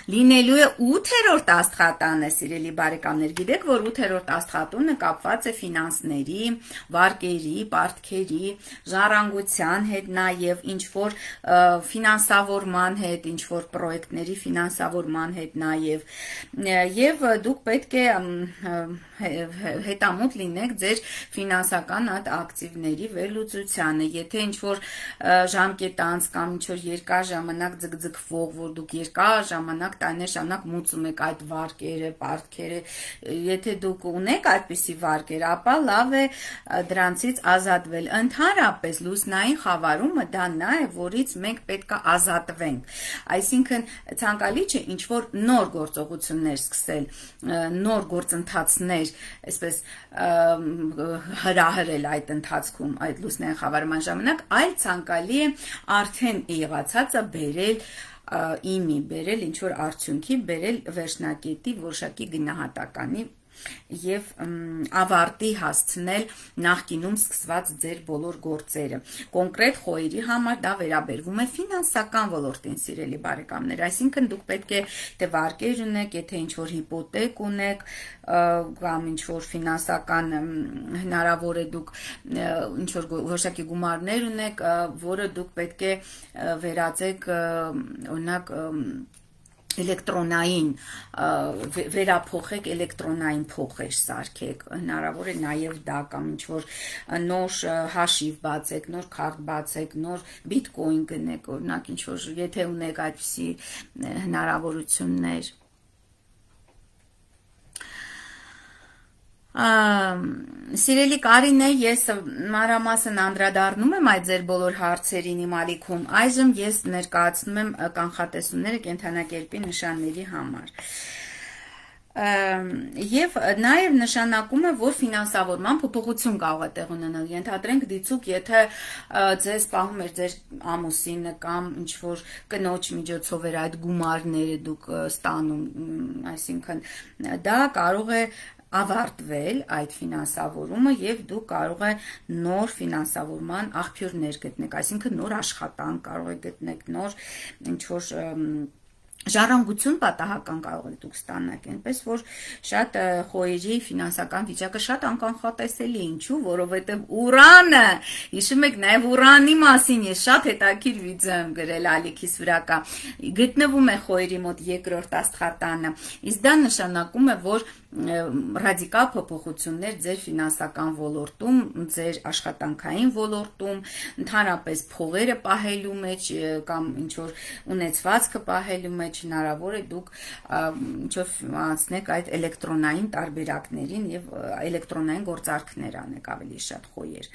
լինելու է 8-րդ աստղատանը, սիրելի բարեկամներ, գիտեք, որ 8-րդ աստղատունը կապված է ֆինանսների, վարկերի, պարտքերի, ժառանգության հետ, նաև ինչ-որ ֆինանսավորման հետ, ինչ-որ պրոյեկտների ֆինանսավորման հետ նաև, և դուք պետք է հետամուտ լինեք ձեր ֆինանսական այդ ակտիվների վերլուծությանը, եթե ինչ-որ ժամկետ անց կամ ինչ-որ երկար ժամանակ ձգձգվող, որ դուք երկար ժամանակ տարիներ շարունակ մուծում եք այդ վարկերը, պարտքերը, եթե դուք ունեք այդպիսի վարկեր, ապա լավ է դրանցից ազատվել։ Ընդհանրապես լուսնային խավարումը դա նա է, որից մենք պետք է ազատվենք։ Այսինքն ցանկալի չէ ինչ-որ նոր գործողություններ սկսել, նոր գործընթացներ, այսպես հրահրել այդ ընթացքում, այդ լուսնային խավարման ժամանակ, այլ ցանկալի է արդեն եղածածը բերել իմի, բերել ինչ-որ արդյունքի, բերել վերջնակետի որոշակի գնահատականի և ավարտի հասցնել նախկինում սկսված ձեր բոլոր գործերը։ Կոնկրետ խոյերի համար դա վերաբերվում է ֆինանսական ոլորտին, սիրելի բարեկամներ, այսինքն դուք պետք է թե վարկեր ունեք, եթե ինչ-որ հիպոթեք ունեք, կամ ինչ-որ ֆինանսական հնարավոր է դուք ինչ-որ որոշակի գումարներ ունեք, որը դուք պետք է վերածեք, օրինակ, էլեկտրոնային վերափոխեք, էլեկտրոնային փոխեր սարքեք, հնարավոր է նաև դա կամ ինչ-որ նոր հաշիվ բացեք, նոր քարտ բացեք, նոր բիտկոին գնեք, օրինակ ինչ-որ եթե ունեք այդպիսի հնարավորություններ։ Սիրելի Կարինե, ես մանրամասն անդրադառնում եմ այդ ձեր բոլոր հարցերին իմ ալիքում, այժմ ես ներկայացնում եմ կանխատեսումները կենդանակերպի նշանների համար։ Եվ նաև նշանակում է, որ ֆինանսավորման փոփոխություն կարող է տեղ ունենալ, ենթադրենք դիցուք, եթե ձեզ պահում էր ձեր ամուսինը կամ ինչ-որ կնոջ միջոցով էր այդ գումարները դուք ստանում, այսինքն դա կարող է ավարտվել այդ ֆինանսավորումը և դուք կարող է նոր ֆինանսավորման աղբյուրներ գտնեք, այսինքն նոր աշխատանք կարող է գտնեք, նոր ինչ-որ ժառանգություն պատահական կարող եք դուք ստանալ, այնպես որ շատ խոյերի ֆինանսական վիճակը շատ անկանխատեսելի, ինչու, որովհետև Ուրանը, հիշում եք, նաև Ուրանի մասին ես շատ հետաքրքիր վիդեո եմ գրել ալիքիս վրա կա, գտնվում է խոյերի մոտ երկրորդ աստղատանը, իսկ դա նշանակում է, որ ռադիկալ փոփոխություններ ձեր ֆինանսական ոլորտում, ձեր աշխատանքային ոլորտում, ընդհանրապես փողերը պահելու մեջ կամ ինչ որ ունեցվածքը պահելու մեջ հնարավոր է դուք ինչ-որ անցնեք այդ էլեկտրոնային տարբերակներին եւ էլեկտրոնային գործարքներ անեք ավելի շատ խոյեր։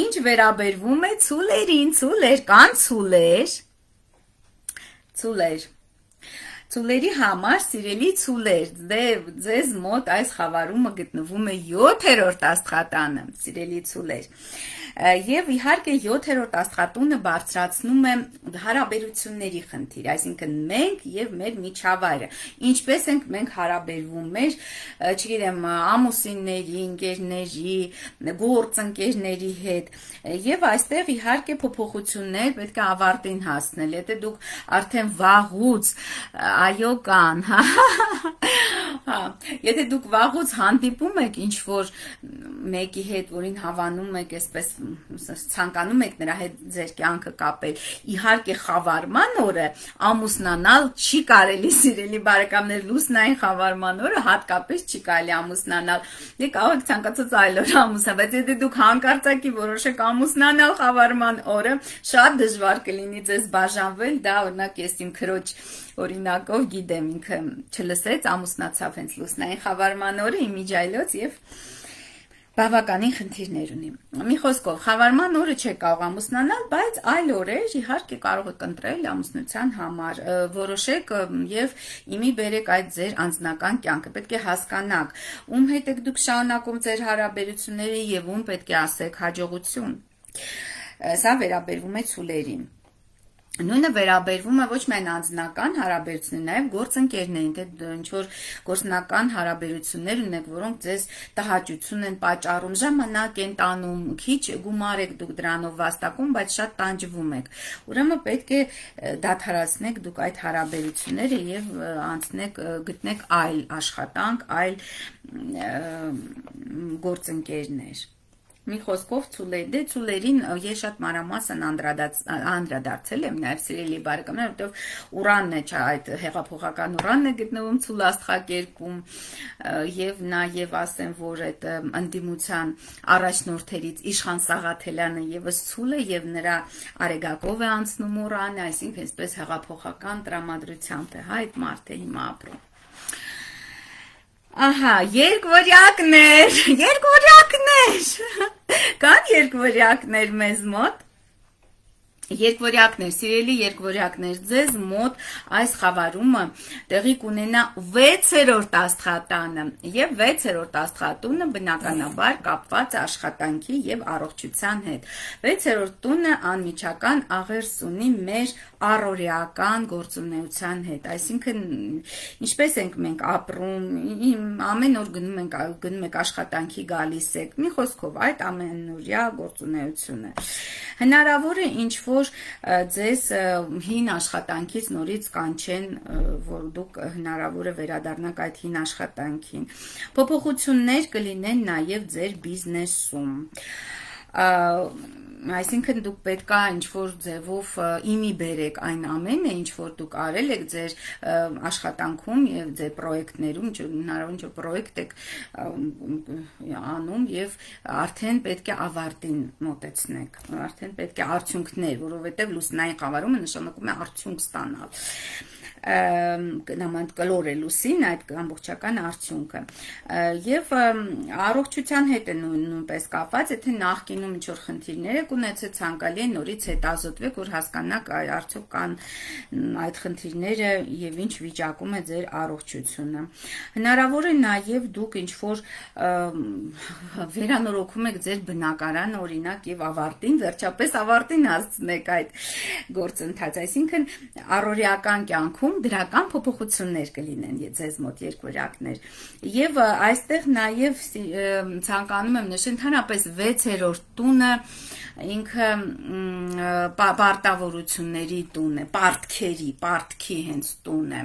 Ինչ վերաբերվում է ցուլերին, ցուլեր կան ցուլեր Ցուլերի համար, սիրելի ցուլեր, ձեզ մոտ այս խավարումը գտնվում է 7-րդ աստղատանը, սիրելի ցուլեր։ Եվ իհարկե 7-րդ աստղատունը բարձրացնում է հարաբերությունների խնդիր, այսինքն մենք եւ մեր միջավայրը, ինչպես ենք մենք հարաբերվում մեր, չգիտեմ, ամուսինների, ընկերների, գործընկերների հետ, եւ այստեղ իհարկե փոփոխություններ պետք է ավարտին հասնել, եթե դուք արդեն վաղուց այո կան, եթե դուք վաղուց հանդիպում եք ինչ-որ մեկի հետ, որին հավանում եք, այսպես ցանկանում եք նրա հետ ձեր կյանքը կապել, իհարկե խավարման օրը ամուսնանալ չի կարելի, սիրելի բարեկամներ, լուսնային խավարման օրը հատկապես չի կարելի ամուսնանալ, դե կարող եք ցանկացած այլ օր ամուսնալ, բայց եթե դուք հանկարծակի որոշեք ամուսնանալ խավարման օրը, շատ դժվար կլինի ձեզ բաժանվել, դա օրինակ ես իմ քրոջ օրինակով գիտեմ, ինքը չլսեց, ամուսնացավ հենց լուսնային խավարման օրը, իմիջայլոց եւ բավականին խնդիրներ ունի։ Մի խոսքով, խավարման օրը չեք կարող ամուսնանալ, բայց այլ օրեր իհարկե կարող եք ընտրել ամուսնության համար, որոշեք եւ իմի բերեք այդ ձեր անձնական կյանքը։ Պետք է հասկանաք, ում հետ եք դուք շարունակում ձեր հարաբերությունները եւ ում պետք է ասեք հաջողություն։ Սա վերաբերվում է ցուլերին։ Նույնը վերաբերվում է ոչ միայն անձնական հարաբերություններին, նաև գործընկերներին, թե ինչ որ գործնական հարաբերություններ ունեք, որոնք ձեզ տհաճություն են պատճառում, ժամանակ են տանում, քիչ գումար եք դուք դրանով վաստակում, բայց շատ տանջվում եք։ Ուրեմն պետք է դադարեցնեք դուք այդ հարաբերությունները եւ անցնեք, գտնեք այլ աշխատանք, այլ գործընկերներ։ Մի խոսքով ցուլերին ես շատ մանրամասն անդրադարձել եմ նաև սիրելի բարեկամներ, որովհետև Ուրանն է, այդ հեղափոխական Ուրանն է գտնվում ցուլ աստղակերպում եւ նաև ասեմ, որ այդ ընդդիմության առաջնորդերից Իշխան Սաղաթելյանը եւս ցուլ է եւ նրա արեգակով է անցնում Ուրանը, այսինքն այսպես հեղափոխական տրամադրությամբ է այդ մարդը հիմա ապրում։ Ահա, երկվորյակներ, կան երկվորյակներ մեզ մոտ, երկվորյակներ, սիրելի երկվորյակներ, ձեզ մոտ այս խավարումը տեղի կունենա 6-րդ աստղատանը եւ 6-րդ աստղատունը բնականաբար կապված է աշխատանքի եւ առողջության հետ։ 6-րդ տունը անմիջական աղերս ունի մեր առօրեական գործունեության հետ, այսինքն ինչպես ենք մենք ապրում, ամեն օր գնում եք աշխատանքի գալիս եք, մի խոսքով այդ ամենօրյա գործունեությունը։ Հնարավոր է ինչ-որ ձեզ հին աշխատանքից նորից կանչեն, որ դուք հնարավոր է վերադառնաք այդ հին աշխատանքին։ Փոփոխություններ կլինեն նաև ձեր բիզնեսում։ Այսինքն դուք պետքա ինչ-որ ձևով իմի բերեք այն ամենը, ինչ որ դուք արել եք ձեր աշխատանքում եւ ձեր պրոյեկտներում, հնարավոր ինչ-որ պրոյեկտ եք անում եւ արդեն պետք է ավարտին մոտեցնեք, արդեն պետք է արդյունքներ, որովհետեւ լուսնային խավարումը նշանակում է արդյունք ստանալ։ Նման կլոր է լուսին այդ ամբողջական արդյունքը եւ առողջության հետ է նույնպես կապված, եթե նախկինում ինչ-որ խնդիրներ եք ունեցել, ցանկալի է նորից հետազոտվեք, որ հասկանաք արդյոք կան այդ խնդիրները եւ ինչ վիճակում է ձեր առողջությունը։ Հնարավոր է նաեւ դուք ինչ-որ վերանորոգում եք ձեր բնակարանը, օրինակ, եւ ավարտին, վերջապես ավարտին հասցնեք այդ գործընթացը, այսինքն առօրեական կյանքում խավարում դրական փոփոխություններ կլինեն ձեզ մոտ երկվորյակներ։ Եվ այստեղ նաև ցանկանում եմ նշել ընդհանրապես 6-րդ տունը ինքը պարտավորությունների տուն է, պարտքի հենց տուն է,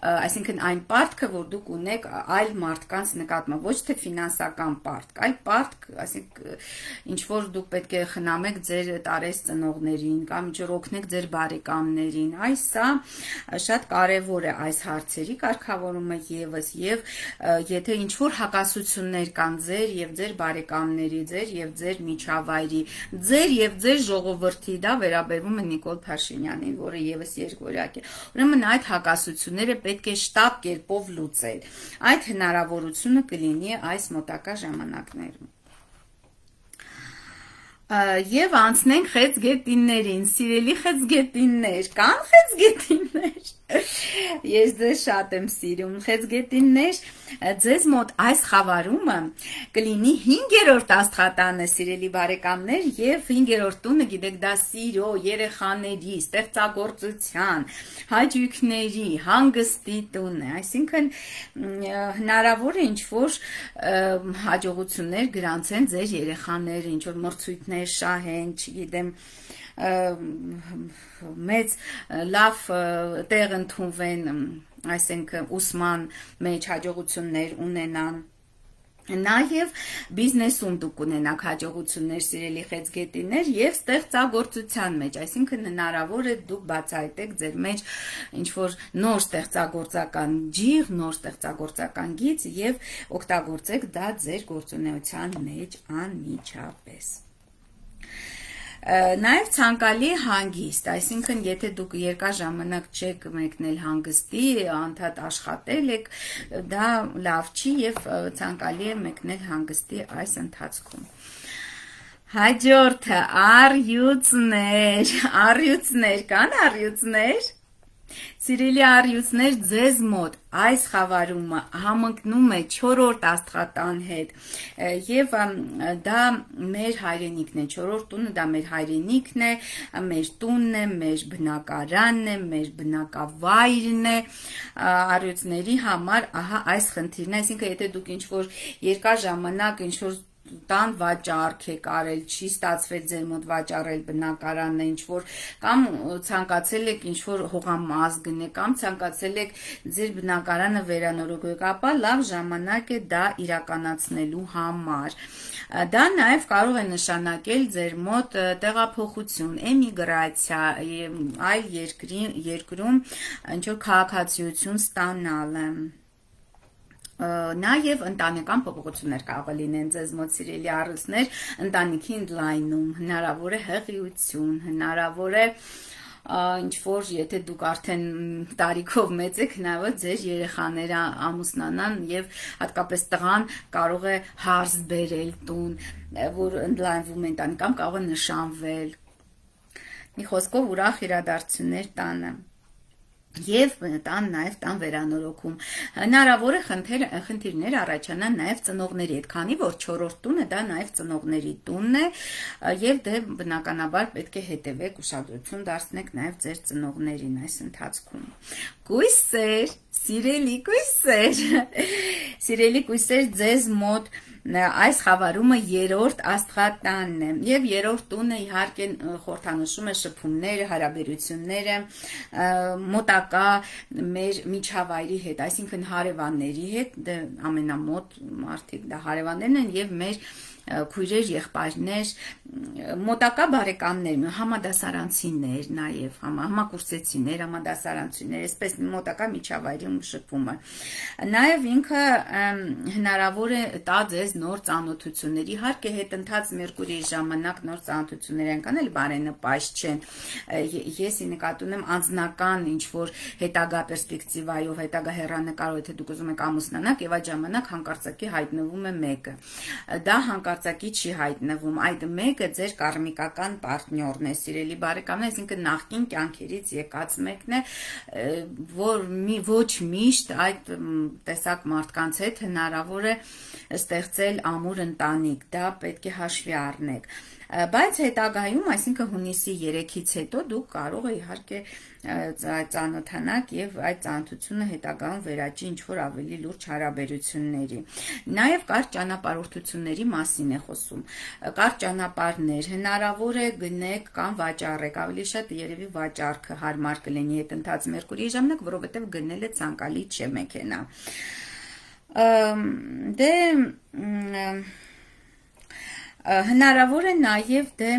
այսինքն այն պարտքը, որ դուք ունեք այլ մարդկանց նկատմամբ, ոչ թե ֆինանսական պարտք, այլ պարտք, այսինքն ինչ որ դուք պետք է խնամեք ձեր տարես ծնողներին կամ ինչ որ օգնեք ձեր բարեկամներին, այս սա շատ կարևոր է այս հարցերի կարգավորումը եւս եւ եթե ինչ որ հակասություններ կան ձեր եւ ձեր բարեկամների, ձեր եւ ձեր միջավայրի, ձեր եւ ձեր ժողովրդի, դա վերաբերվում է Նիկոլ Փաշինյանին, որը եւս երկվորյակ է։ Ուրեմն այդ հակասությունները պետք է շտապ կերպով լուծել։ Այդ հնարավորությունը կլինի այս մոտակա ժամանակներում։ Եվ անցնենք խեցգետիններին, սիրելի խեցգետիններ, կան խեցգետիններ։ Ես ձեզ շատ եմ սիրում, խեցգետիններ, ձեզ մոտ այս խավարումը կլինի 5-րդ աստղատանը, սիրելի բարեկամներ, եւ 5-րդ տունը, գիտեք, դա սիրո, երեխաների, ստեղծագործության, հաճույքների, հանգստի տունն է, այսինքն հնարավոր է ինչ-որ հաջողություններ գրանցեն ձեր երեխաները, ինչ-որ մրցույթներ շահեն, չգիտեմ, մեծ լավ տեղ ընդունվեն, այսինքն ուսման մեջ հաջողություններ ունենան։ Նաև բիզնեսում դուք ունենաք հաջողություններ, սիրելի խեցգետիներ, եւ ստեղծագործության մեջ, այսինքն հնարավոր է դուք բացահայտեք ձեր մեջ ինչ-որ նոր ստեղծագործական ջիղ, նոր ստեղծագործական գիծ եւ օգտագործեք դա ձեր գործունեության մեջ անմիջապես։ Նաև ցանկալի հանգիստ, այսինքն եթե դուք երկար ժամանակ չեք մեկնել հանգստի, անդադ աշխատել եք, դա լավ չի եւ ցանկալի է մեկնել հանգստի այս ընթացքում։ Հաջորդը առյուծներ, կան առյուծներ։ Սիրելի առյուծներ, ձեզ մոտ այս խավարումը համընկնում է 4-րդ աստղատան հետ եւ դա մեր հայրենիքն է, 4-րդ տունը դա մեր հայրենիքն է, մեր տունն է, մեր բնակարանն է, մեր բնակավայրն է, առյուծների համար ահա այս խնդիրն է, այսինքն եթե դուք ինչ-որ երկար ժամանակ ինչ-որ տան վաճառք եք արել, չի ստացվել ձեր մոտ վաճառել բնակարանը, ինչ-որ կամ ցանկացել եք ինչ-որ հողամաս գնել, կամ ցանկացել եք ձեր բնակարանը վերանորոգել, ապա լավ ժամանակ է դա իրականացնելու համար։ Դա նաև կարող է նշանակել ձեր մոտ տեղափոխություն, էմիգրացիա, այլ երկրում ինչ-որ քաղաքացիություն ստանալը։ Նաև ընտանեկան փոփոխություններ կարող է լինեն ձեզ մոտ, սիրելի առյուծներ, ընտանիքի ընդլայնում, հնարավոր է հղիություն, հնարավոր է ինչ-որ, եթե դուք արդեն տարիքով մեծ եք, հնարավոր ձեր երեխաները ամուսնանան եւ հատկապես տղան կարող է հարս բերել տուն, որ ընդլայնվում է ընտանիք, կամ կարող է նշանվել։ Մի խոսքով ուրախ իրադարձություններ տանը։ Եվ տան նաև տան վերանորոգում։ Հնարավոր է խնդիրներ առաջանան նաև ծնողների հետ, քանի որ 4-րդ տունը դա նաև ծնողների տունն է, եւ դե բնականաբար պետք է հետևեք, ուշադրություն դարձնեք նաև ձեր ծնողներին այս ընթացքում։ Կույսեր, սիրելի կույսեր, ձեզ մոտ այս խավարումը 3-րդ աստղատանն է եւ 3-րդ տունը իհարկե խորհրդանշում է շփումները, հարաբերությունները մոտակա մեր միջավայրի հետ, այսինքն հարևանների հետ, ամենամոտ մարդիկ դա հարևաններն են եւ մեր քույրեր, եղբայրներ, մոտակա բարեկամներ, համադասարանցիներ, նաև համակուրսեցիներ, համադասարանցիներ, այսպես մոտակա միջավայրում շփումը։ Նաև ինքը հնարավոր է տա ձեզ նոր ծանոթություններ։ Իհարկե հետընթաց Մերկուրիի ժամանակ նոր ծանոթություններ են կանել, բարենպաստ չեն։ Ես նկատի ունեմ անձնական ինչ-որ հետագա պերսպեկտիվայով, հետագա հեռանկարով, եթե դուք ուզում եք ամուսնանալ, եւ այդ ժամանակ հանկարծակի հայտնվում է մեկը։ Դա հանկարծակի չի հայտնվում, այդ մեկը ձեր կարմիկական պարտներն է, սիրելի բարեկամներ, այսինքն նախկին կյանքերից եկած մեկն է, որ ոչ միշտ այդ տեսակ մարդկանց հետ հնարավոր է ստեղծել ամուր ընտանիք, դա պետք է հաշվի առնեք։ Բայց հետագայում, այսինքն հունիսի 3-ից հետո դուք կարող եք իհարկե ծանոթանաք եւ այդ ծանոթությունը հետագայում վերաճի ինչ-որ ավելի լուրջ հարաբերությունների։ Նաեւ կարճ ճանապարհորդությունների մասին է խոսում։ Կարճ ճանապարհներ հնարավոր է գնեք կամ վաճառեք, ավելի շատ երևի վաճառքը հարմար կլինի հետընթաց Մերկուրիի ժամանակ, որովհետեւ գնելը ցանկալի չէ մեքենա։ Դե հնարավոր է նաև դե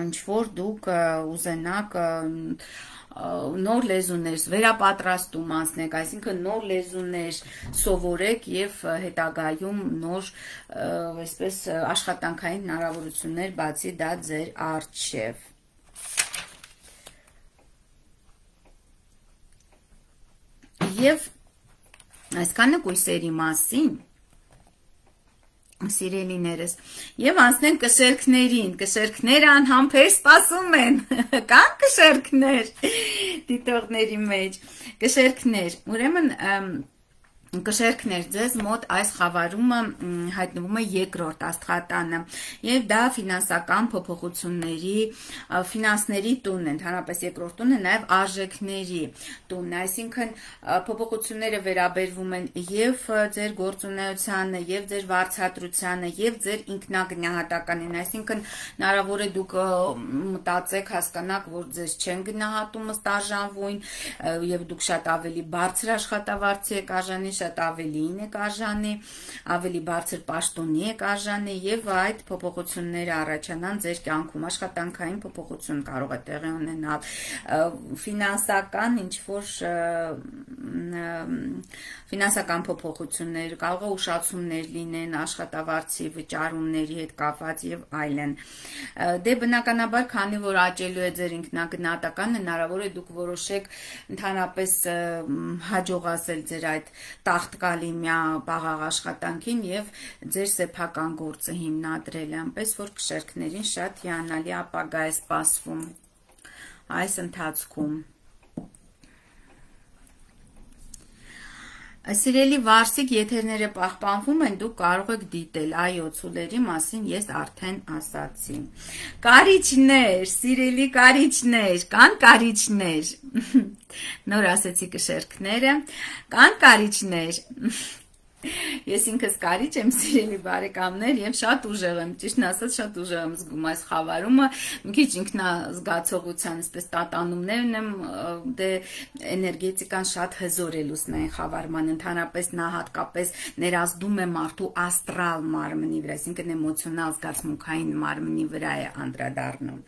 ինչ-որ դուք ուզենաք նոր լեզուներ վերապատրաստում անցնեք, այսինքն նոր լեզուներ սովորեք եւ հետագայում նոր այսպես աշխատանքային հնարավորություններ բացի դա ձեր առջև։ Եվ այսքանը կույսերի մասին, սիրելիներս, եւ անցնենք կշերքներին, կշերքները անհամբեր սպասում են, կան կշերքներ դիտողների մեջ, կշերքներ, ուրեմն կշերքներ ձեզ մոտ այս խավարումը հայտնվում է երկրորդ աստղատանը եւ դա ֆինանսական փոփոխությունների ֆինանսների տունն է, ընդհանրապես երկրորդ տունը նաեւ արժեքների տունն է, այսինքն փոփոխությունները վերաբերվում են եւ ձեր գործունեությանը եւ ձեր վարձատրությանը եւ ձեր ինքնագնահատականին, այսինքն հնարավոր է դուք մտածեք, հասկանաք, որ ձեզ չեն գնահատում ըստ արժանվույն եւ դուք շատ ավելի բարձր աշխատավարձի եք արժանի, շատ ավելին եք արժանի, ավելի բարձր պաշտոնի եք արժանի եւ այդ փոփոխությունները առաջանան ձեր կյանքում, աշխատանքային փոփոխություն կարող է տեղի ունենալ, ֆինանսական ինչ-որ ֆինանսական փոփոխություններ, կարող է ուշացումներ լինեն աշխատավարձի վճարումների հետ կապված եւ այլն։ Դե բնականաբար, քանի որ աճելու է ձեր ինքնագնահատականը, հնարավոր է դուք որոշեք ընդհանրապես հաջողացել ձեր այդ տախտկալիմյա պաղաղ աշխատանքին եւ ձեր սեփական գործը հիմնադրել, այնպես որ կշերքներին շատ հիանալի ապագա է սպասվում այս ընթացքում։ Սիրելի Վարսիկ, եթերները պահպանվում են, դուք կարող եք դիտել, այո, ցուլերի մասին ես արդեն ասացի։ Կարիճներ, սիրելի կարիճներ, կան կարիճներ, նոր ասեցի կշերքները, կան կարիճներ, ես ինքս կարիճ եմ, սիրելի բարեկամներ, եւ շատ ուժեղ եմ, ճիշտն ասած շատ ուժեղ եմ զգում այս խավարումը, մի քիչ ինքնազգացողության, այսպես տատանումներն եմ, դե էներգետիկան շատ հզոր է լուսնային խավարման, ընդհանրապես նա հատկապես ներազդում է մարդու աստրալ մարմնի վրա, այսինքն էմոցիոնալ զգացմունքային մարմնի վրա է անդրադառնում։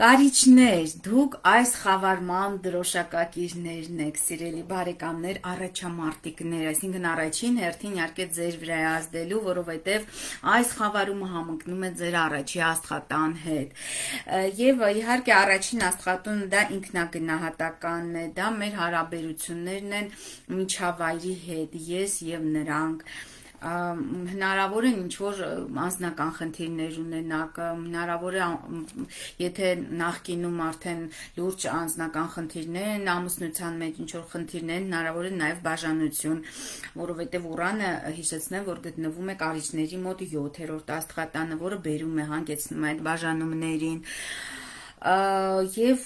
Կարիճներ, դուք այս խավարման դրոշակակիրներն եք, սիրելի բարեկամներ, առաջամարտիկներ, այսինքն առաջին հերթին իհարկե ձեր վրա է ազդելու, որովհետև այս խավարումը համընկնում է ձեր առաջի աստղատան հետ։ Եվ իհարկե առաջին աստղատունը դա ինքնագնահատականն է, դա մեր հարաբերություններն են միջավայրի հետ, ես եւ նրանք։ Հնարավոր է ինչ-որ անձնական խնդիրներ ունենաք, հնարավոր է, եթե նախկինում արդեն լուրջ անձնական խնդիրներ են, ամուսնության մեջ ինչ-որ խնդիրներ են, հնարավոր է նաև բաժանություն, որովհետև Ուրանը հիշեցնեմ, որ գտնվում է կարիճների մոտ 7-րդ աստղատանը, որը բերում է, հանգեցնում է այդ բաժանումներին։ Եվ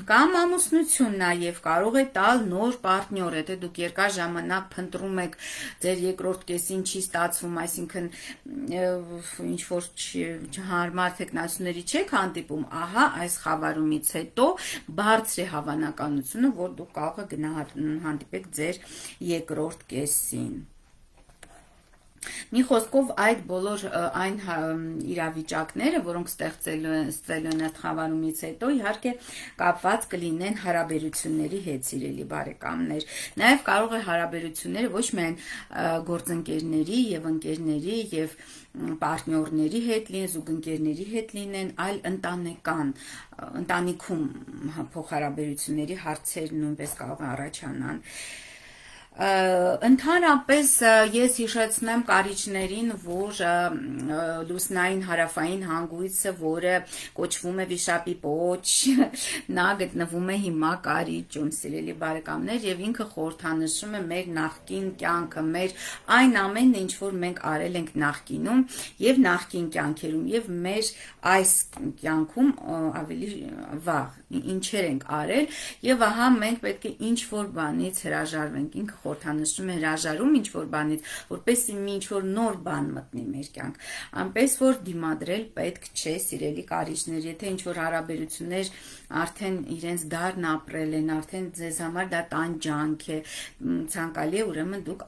կամ ամուսնություն նաև կարող է տալ նոր պարտնյոր, եթե դուք երկար ժամանակ փնտրում եք, ձեր երկրորդ կեսին չի ստացվում, այսինքն ինչ-որ հարմար թեկնածուների չեք հանդիպում, ահա այս խավարումից հետո բարձր է հավանականությունը, որ դուք կարող եք հանդիպեք ձեր երկրորդ կեսին։ Մի խոսքով այդ բոլոր այն իրավիճակները, որոնք ստեղծելու են այդ խավարումից հետո, իհարկե կապված կլինեն հարաբերությունների հետ, սիրելի բարեկամներ։ Նաև կարող է հարաբերությունները ոչ միայն գործընկերների եւ ընկերների եւ պարտնյորների հետ լինեն, զուգընկերների հետ լինեն, այլ ընտանիքում փոխհարաբերությունների հարցեր նույնպես կարող են առաջանալ։ Ընդհանրապես ես հիշեցնեմ կարիճներին, որ լուսնային հարավային հանգույցը, որը կոչվում է վիշապի պոչ, նա գտնվում է հիմա Կարիճում, սիրելի բարեկամներ, եւ ինքը խորհրդանշում է մեր նախկին կյանքը, մեր այն ամենը, ինչ որ մենք արել ենք նախկինում եւ նախկին կյանքերում եւ մեր այս կյանքում ավելի վաղ ինչեր ենք արել եւ ահա մենք պետք է ինչ որ բանից հրաժարվենք, ինքը խորհրդանշում է հրաժարում ինչ որ բանից, որպեսզի մի ինչ որ նոր բան մտնի մեր կյանք, այնպես որ դիմադրել պետք չէ, սիրելի կարիճներ, եթե ինչ որ հարաբերություններ արդեն իրենց դարն ապրել են, արդեն ձեզ համար դա տանջանք է, ցանկալի է, ուրեմն դուք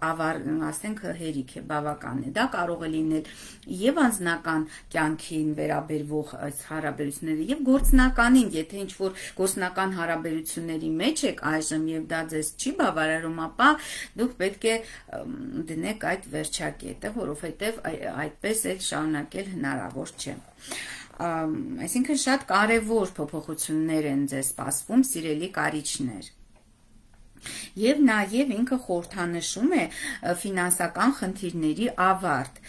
ասենք հերիք է, բավական է, դա կարող է լինել եւ անձնական կյանքին վերաբերվող այս հարաբերությունները եւ գործնականին, եթե ինչ որ գործնական հարաբերությունների մեջ եք այժմ եւ դա ձեզ չի բավարարում, ապա դուք պետք է դնեք այդ վերջակետը, որովհետեւ այդպես էլ շարունակել հնարավոր չէ։ Այսինքն շատ կարևոր փոփոխություններ են ձեզ սպասվում, սիրելի կարիճներ։ Եվ նաև ինքը խորհրդանշում է ֆինանսական խնդիրների ավարտ։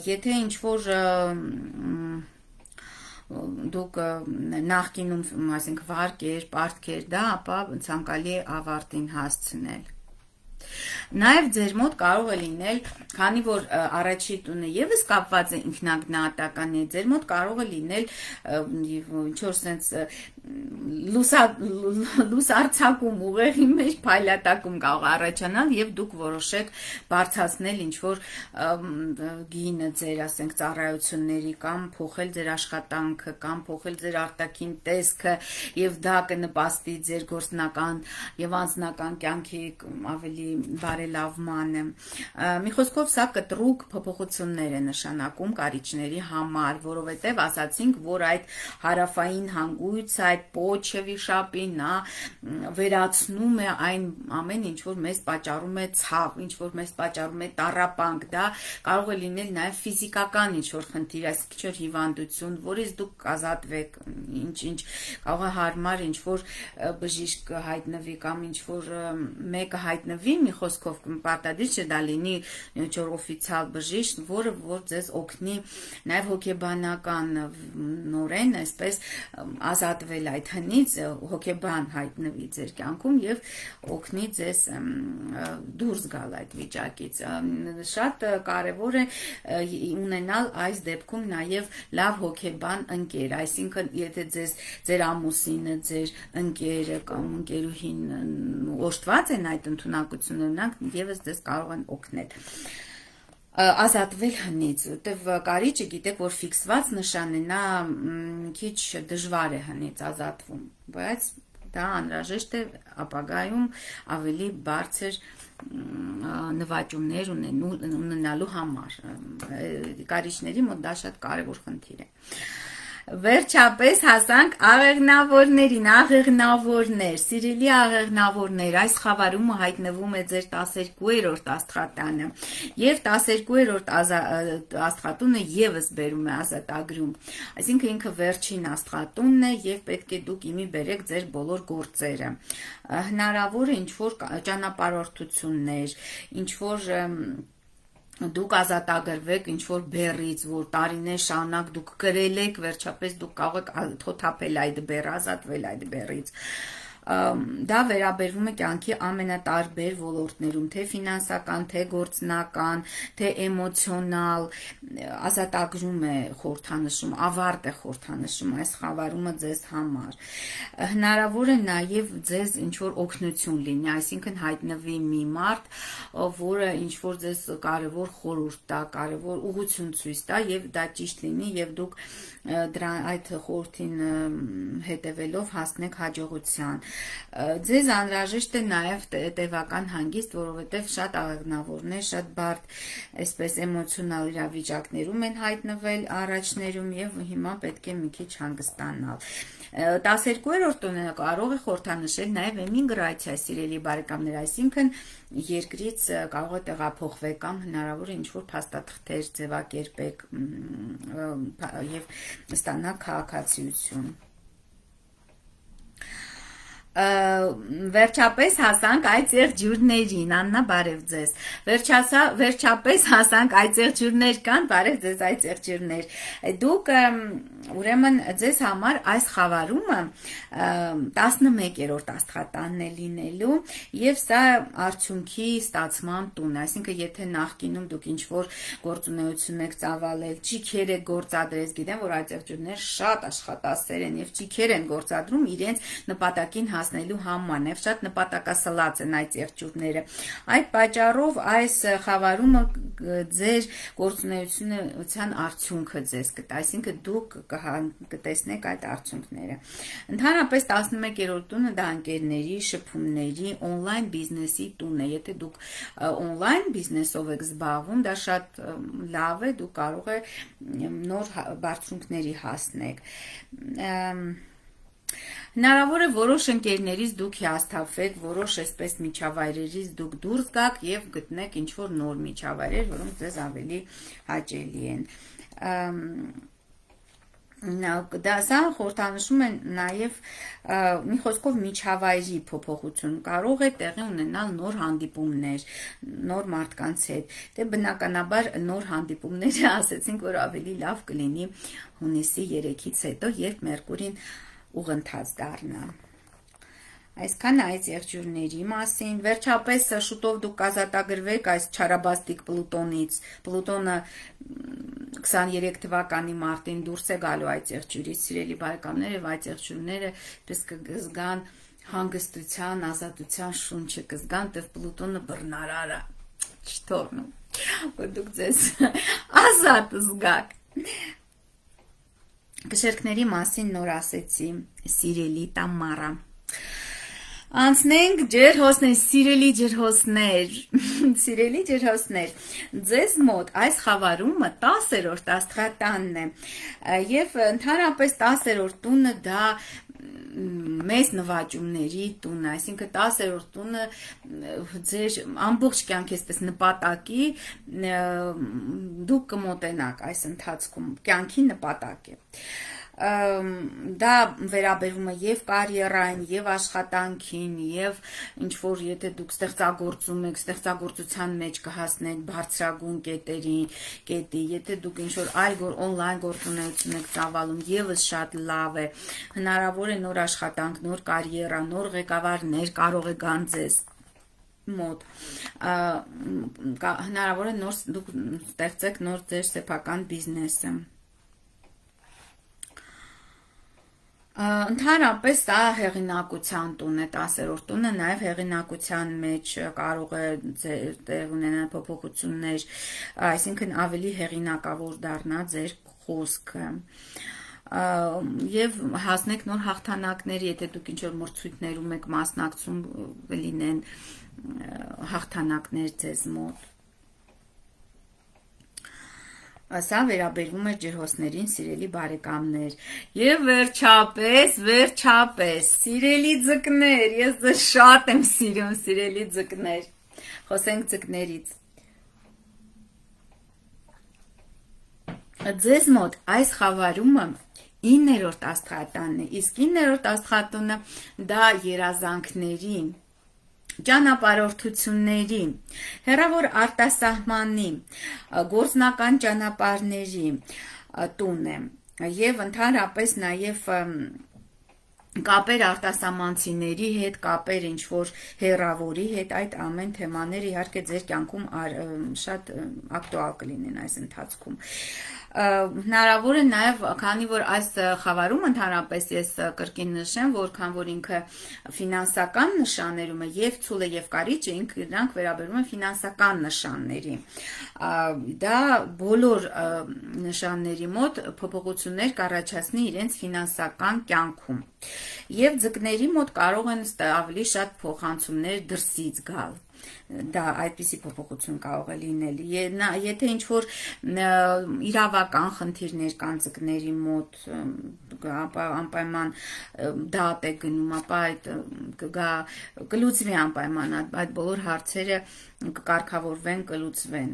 Եթե ինչ որ դուք նախկինում, ասենք, վարկեր, պարտքեր, դա ապա ցանկալի է ավարտին հասցնել։ Նաև ձեր մոտ կարող է լինել, քանի որ առաջի տունը եւս կապված է ինքնագնահատական է, ձեր մոտ կարող է լինել ինչ որ sense լուսարցակում ուղեղի մեջ փայլատակում կարող առաջանալ եւ դուք որոշեք բարձրացնել ինչ որ գինը ձեր, ասենք, ծառայությունների կամ փոխել ձեր աշխատանքը կամ փոխել ձեր արտաքին տեսքը եւ դա կնպաստի ձեր գործնական եւ անձնական կյանքի ավելի բարելավմանը։ Մի խոսքով սա կտրուկ փոփոխություններ է նշանակում կարիճների համար, որովհետև ասացինք, որ այդ հարավային հանգույցը, այդ պոչը վիշապի, նա վերացնում է այն ամեն ինչ որ մեզ պատճառում է ցավ, ինչ որ մեզ պատճառում է տառապանք, դա կարող է լինել նաև ֆիզիկական ինչ որ խնդիր, այսինքն ինչ որ հիվանդություն, որից դուք ազատվեք, ինչ կարող է հարմար ինչ որ բժիշկ հայտնվի կամ ինչ որ մեկը հայտնվի, մի խոսքով պարտադիր չէ դա լինի ինչ որ օֆիցիալ բժիշկ, որը որ ձեզ օգնի նաև հոգեբանական նորեն այսպես ազատվել այդ հնից, հոգեբան հայտնվի ձեր կյանքում եւ օգնի ձեզ դուրս գալ այդ վիճակից։ Շատ կարեւոր է ունենալ այս դեպքում նաև լավ հոգեբան ընկեր, այսինքն եթե ձեր ամուսինը, ձեր ընկերը կամ ընկերուհին օժտված են այդ ընդունակություններն, եւս ձեզ կարող են օգնել ազատվել հնից, որտեվ կարիճը գիտեք, որ ֆիքսված նշան է, նա քիչ դժվար է հնից ազատվում, բայց դա անհրաժեշտ է ապագայում ավելի բարձր նվաճումներ ունենալու համար։ Կարիճների մոտ դա շատ կարևոր խնդիր է։ Վերջապես հասանք աղեղնավորներին, աղեղնավորներ, սիրելի աղեղնավորներ, այս խավարումը հայտնվում է ձեր 12-րդ աստղատանը եւ 12-րդ աստղատունը եւս բերում է ազատագրում, այսինքն ինքը վերջին աստղատունն է եւ պետք է դուք իմի բերեք ձեր բոլոր գործերը, հնարավոր է ինչ որ ճանապարհորդություններ, ինչ որ դուք ազատագրվեք ինչ որ բեռից, որ տարիներ շարունակ դուք գրել եք, վերջապես դուք կարող եք թոթափել այդ բեռը, ազատվել այդ բեռից։ Դա վերաբերվում է կյանքի ամենատարբեր ոլորտներում, թե ֆինանսական, թե գործնական, թե էմոցիոնալ, ազատագրում է խորհրդանշում, ավարտ է խորհրդանշում այս խավարումը ձեզ համար։ Հնարավոր է նաև ձեզ ինչ որ օգնություն լինի, այսինքն հայտնվի մի մարդ, որը ինչ որ ձեզ կարևոր խորհուրդ տա, կարևոր ուղղություն ցույց տա եւ դա ճիշտ լինի եւ դուք այդ խորհրդին հետևելով հասնեք հաջողության։ Ձեզ անհրաժեշտ է նաև տևական հանգիստ, որովհետև շատ աղեղնավորներ, շատ բարդ այսպես էմոցիոնալ իրավիճակներում են հայտնվել առաջներում եւ հիմա պետք է մի քիչ հանգստանալ։ 12-րդ տոնը կարող է խորհրդանշել նաև էմիգրացիա, սիրելի բարեկամներ, այսինքն երկրից կարող է տեղափոխվել կամ հնարավոր է ինչ-որ փաստաթղթեր ձևակերպեք եւ ստանալ քաղաքացիություն։ Վերջապես հասանք այդ եղջյուրներին, Աննա, բարև ձեզ։ Վերջապես հասանք այդ եղջյուրներ կան, բարև ձեզ այդ եղջյուրներ։ Դուք ուրեմն ձեզ համար այս խավարումը 11-րդ աստղատանն է լինելու եւ սա արդյունքի ստացման տուն է, այսինքն եթե նախկինում դուք ինչ-որ գործունեություն եք ծավալել, ճիքեր եք գործադրել, գիտեմ, որ այդ եղջյուրները շատ աշխատասեր են եւ ճիքեր են գործադրում իրենց նպատակին հասնելու համար, եւ շատ նպատակասլաց են այդ եղջյուրները։ Այդ պատճառով այս խավարումը ձեր գործունեության արդյունքը ձեզ կտա, այսինքն դուք կտեսնեք այդ արդյունքները։ Ընդհանրապես 11-րդ տունը դա ընկերների, շփումների, օնլայն բիզնեսի տուն է։ Եթե դուք օնլայն բիզնեսով եք զբաղվում, դա շատ լավ է, դուք կարող եք նոր բարձունքների հասնեք։ Հնարավոր է որոշ ընկերներից դուք հիասթափվեք, որոշ այսպես միջավայրերից դուք դուրս գաք եւ գտնեք ինչ-որ նոր միջավայրեր, որոնք ձեզ ավելի հաճելի են։ Սա խորհրդանշում է նաև մի խոսքով միջավայրի փոփոխություն, կարող է տեղի ունենալ նոր հանդիպումներ, նոր մարդկանց հետ։ Դե բնականաբար նոր հանդիպումները ասեցինք, որ ավելի լավ կլինի հունիսի 3-ից հետո, երբ Մերկուրին ուղընթաց դառնա։ Այսքան այս եղջյուրների մասին, վերջապես շուտով դուք կազատագրվեք այս չարաբաստիկ Պլուտոնից, Պլուտոնը 23 թվականի մարտին դուրս է գալու այդ եղջյուրից, սիրելի բարեկամներ, եւ այդ եղջյուրները պես կզգան հանգստության, ազատության շունչը, կզգան, թե Պլուտոնը բռնարարը չթողնում, որ դուք ձեզ ազատ զգաք։ Կշերքների մասին նոր ասեցի, սիրելի Տամարա։ Անցնենք ջերհոսներ, սիրելի ջերհոսներ, սիրելի ջերհոսներ, ձեզ մոտ այս խավարումը 10-րդ աստղատանն է, եւ ընդհանրապես 10-րդ տունը դա մեծ նվաճումների տունը, այսինքն 10-րդ տունը ձեր ամբողջ կյանքի այսպես նպատակի դուք կմոտենաք այս ընթացքում, կյանքի նպատակ է։ Դա վերաբերում է եւ կարիերային, եւ աշխատանքին, եւ ինչ որ եթե դուք ստեղծագործում եք, ստեղծագործության մեջ կհասնեք բարձրագույն կետի, եթե դուք ինչ որ այլ օնլայն գործունեություն եք ծավալում, եւս շատ լավ է։ Հնարավոր է նոր աշխատանք, նոր կարիերա, նոր ղեկավարներ կարող է գան ձեզ մոտ, հնարավոր է դուք ստեղծեք նոր ձեր սեփական բիզնեսը։ Ընդհանրապես սա հեղինակության տուն է, 10-րդ տունը, նաև հեղինակության մեջ կարող է տեղ ունենալ փոփոխություններ, այսինքն ավելի հեղինակավոր դառնա ձեր խոսքը։ Եվ հասնեք նոր հաղթանակների, եթե դուք ինչ-որ մրցույթներում եք մասնակցում, լինեն հաղթանակներ ձեզ մոտ։ Սա վերաբերվում է ջրհոսներին, սիրելի բարեկամներ։ Եվ վերջապես, սիրելի ձկներ, ես ձեզ շատ եմ սիրում, սիրելի ձկներ։ Խոսենք ձկներից։ Ձեզ մոտ այս խավարումը 9-րդ աստղատանն է, իսկ 9-րդ աստղատունը դա երազանքների, ճանապարհորդությունների, հեռավոր արտասահմանի, գործնական ճանապարհների տուն է, եւ ընդհանրապես նաեւ կապեր արտասահմանցիների հետ, կապեր ինչ-որ հեռավորի հետ, այդ ամեն թեմաները իհարկե ձեր կյանքում շատ ակտուալ կլինեն այս ընթացքում։ Հնարավոր է նաև, քանի որ այս խավարում ընդհանրապես ես կրկին նշեմ, որքան որ ինքը ֆինանսական նշաններում է, եւ ցուլը եւ կարիճը ինքնրանք վերաբերում են ֆինանսական նշանների։ Դա բոլոր նշանների մոտ փոփոխություններ կառաջացնի իրենց ֆինանսական կյանքում։ Եվ ձկների մոտ կարող են ավելի շատ փոխանցումներ դրսից գալ։ Դա այդպիսի փոփոխություն կարող է լինել։ Եթե ինչ-որ իրավական խնդիրներ կան ձկների մոտ, անպայման դատ է գնում, ապա այդ կլուծվի անպայման, այդ բոլոր հարցերը կկարգավորվեն, կլուծվեն։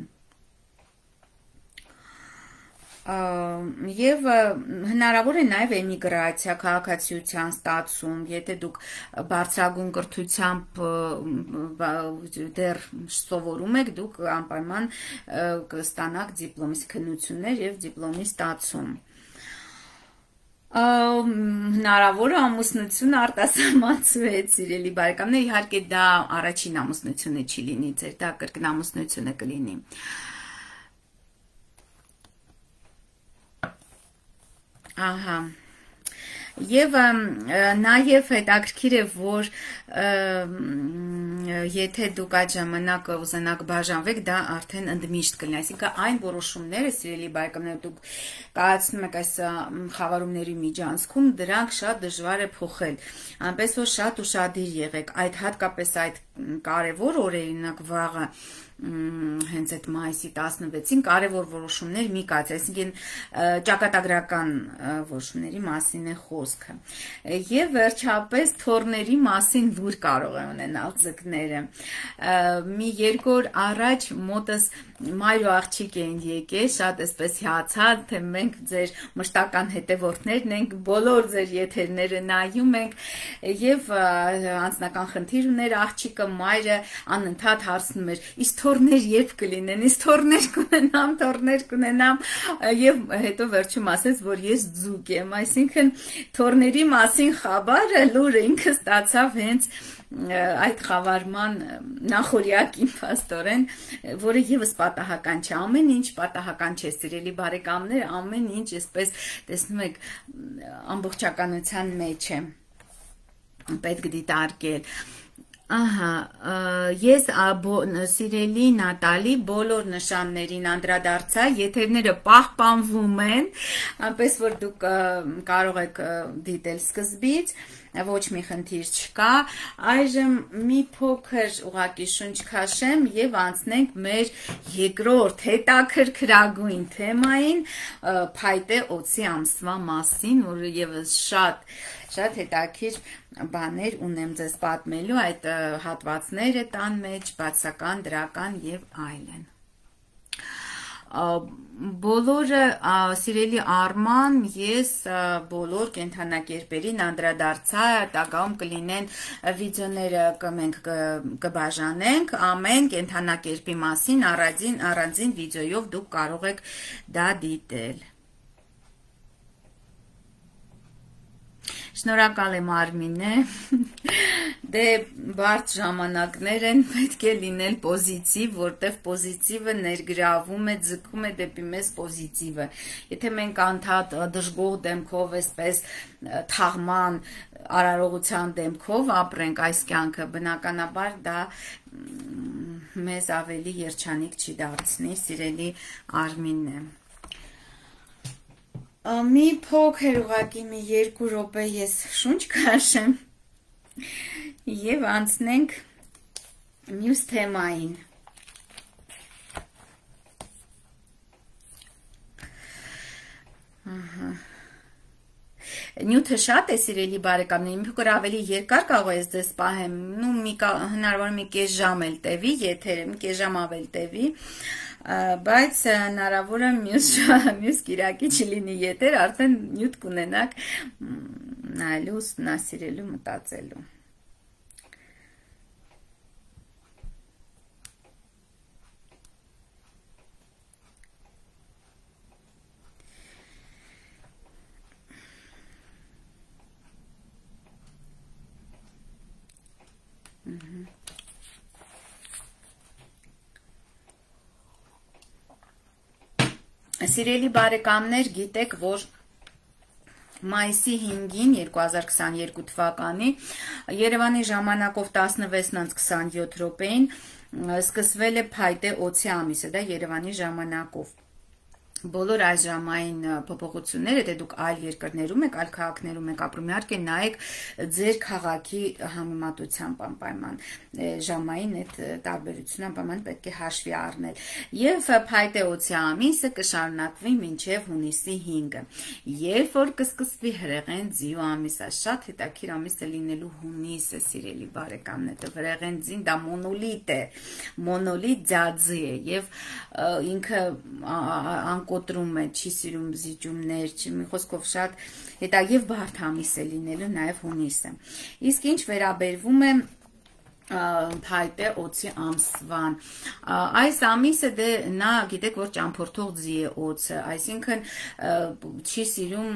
Եվ հնարավոր է նաև էմիգրացիա, քաղաքացիության ստացում, եթե դուք բարձրագույն կրթությամբ դեռ սովորում եք, դուք անպայման կստանաք դիպլոմի քննություններ եւ դիպլոմի ստացում։ Հնարավոր է ամուսնություն արտասահմանցուեց, սիրելի բարեկամներ, իհարկե դա առաջին ամուսնությունը չի լինի, ձեր դա կրկին ամուսնությունը կլինի։ Ահա Եվ նաև հետաքրքիր է, որ եթե դուք այդ ժամանակ ուզենաք բաժանվեք, դա արդեն ընդմիշտ կլինի, այսինքն այն որոշումները, սիրելի բարեկամներ, դուք կայացնում եք այս խավարումների միջանցքում, դրանք շատ դժվար է փոխել, այնպես որ շատ ուշադիր եղեք, այդ հատկապես այդ կարևոր օրերին, վաղը հենց այդ մայիսի 16-ին կարևոր որոշումներ մի կայացրեք, այսինքն ճակատագրական որոշումների մասին է խոսքը։ Եվ վերջապես թորների մասին լուր կարող է ունենալ ձկները։ Մի երկու օր առաջ մոտս մայր ու աղջիկ էին եկել, շատ էսպես հիացած, թե մենք ձեր մշտական հետևորդներն ենք, բոլոր ձեր եթերները նայում ենք, եւ անձնական խնդիր ուներ աղջիկը, մայրը անընդհատ հարցնում էր. «Իսկ թորներ երբ կլինեն, իսկ թորներ կունենամ», եւ հետո վերջում ասեց, որ ես ձուկ եմ, այսինքն թորների մասին խաբարը լուրը ինքը ստացավ հենց այդ խավարման նախորյակին փաստորեն, որը եւս պատահական չէ, ամեն ինչ պատահական չէ, սիրելի բարեկամներ, ամեն ինչ այսպես տեսնում եք ամբողջականության մեջ է, պետք դիտարկել։ Ահա, ես սիրելի Նատալի բոլոր նշաններին անդրադարձա, եթերները պահպանվում են, այնպես որ դուք կարող եք դիտել սկզբից, ոչ մի խնդիր չկա, այժմ մի փոքր ուղղակի շունչ քաշեմ եւ անցնենք մեր երկրորդ հետաքրքրագույն թեմային, փայտե օծի ամսվա մասին, որը եւս շատ հետաքրքիր բաներ ունեմ ձեզ պատմելու, այդ հատվածները տան մեջ, բացական, դրական եւ այլն։ Բոլորը սիրելի Արման, ես բոլոր կենդանակերպերին անդրադարձա, տակաում կլինեն վիդեոները մենք կբաժանենք, ամեն կենդանակերպի մասին առանձին վիդեոյով դուք կարող եք դա դիտել։ Շնորհակալ եմ Արմինե, դե բարդ ժամանակներ են, պետք է լինել պոզիտիվ, որտեղ պոզիտիվը ներգրավում է, ձգում է դեպի մեզ պոզիտիվը։ Եթե մենք անդադ դժգոհ դեմքով, այսպես թաղման արարողության դեմքով ապրենք այս կյանքը, բնականաբար դա մեզ ավելի երջանիկ չի դարձնի, սիրելի Արմինե։ Մի փոքր ուղղակի մի 2 րոպե ես շունչ քաշեմ եւ անցնենք մյուս թեմային։ Նյութը շատ է, սիրելի բարեկամներ, մի փոքր ավելի երկար կարող ես դες պահեմ, հնարավոր մի կես ժամ էլ տևի, եթերը մի կես ժամ ավել տևի, բայց հնարավոր է մյուս կիրակի չլինի եթեր, արդեն նյութ կունենաք նայելու, ուսումնասիրելու, մտածելու։ Սիրելի բարեկամներ, գիտեք, որ մայիսի 5-ին 2022 թվականի Երևանի ժամանակով 16:27 րոպեին սկսվել է փայտե օծի ամիսը, դա Երևանի ժամանակով։ Բոլոր այս ժամային փոփոխությունները, եթե դուք այլ երկրներում եք, այլ քաղաքներում եք ապրում, իհարկե նայեք ձեր քաղաքի համեմատությամբ անպայման ժամային այդ տարբերությունը անպայման պետք է հաշվի առնել։ Եվ փայտե օծի ամիսը կշարունակվի մինչև հունիսի 5-ը։ Երբ որ կսկսվի հրեղեն ձիու ամիսը, շատ հետաքրքիր ամիս է լինելու հունիսը, սիրելի բարեկամներ, հրեղեն ձին դա մոնոլիտ է, մոնոլիտ ձաձի է եւ ինքը կոտրում է, չի սիրում զիջումներ, մի խոսքով շատ հետագեւ բարդ ամիս է լինելու նաև հունիսը։ Իսկ ինչ վերաբերվում է փայտե օծի ամսվան, այս ամիսը դե նա գիտեք որ ճամփորդող ձի է օծը, այսինքն չի սիրում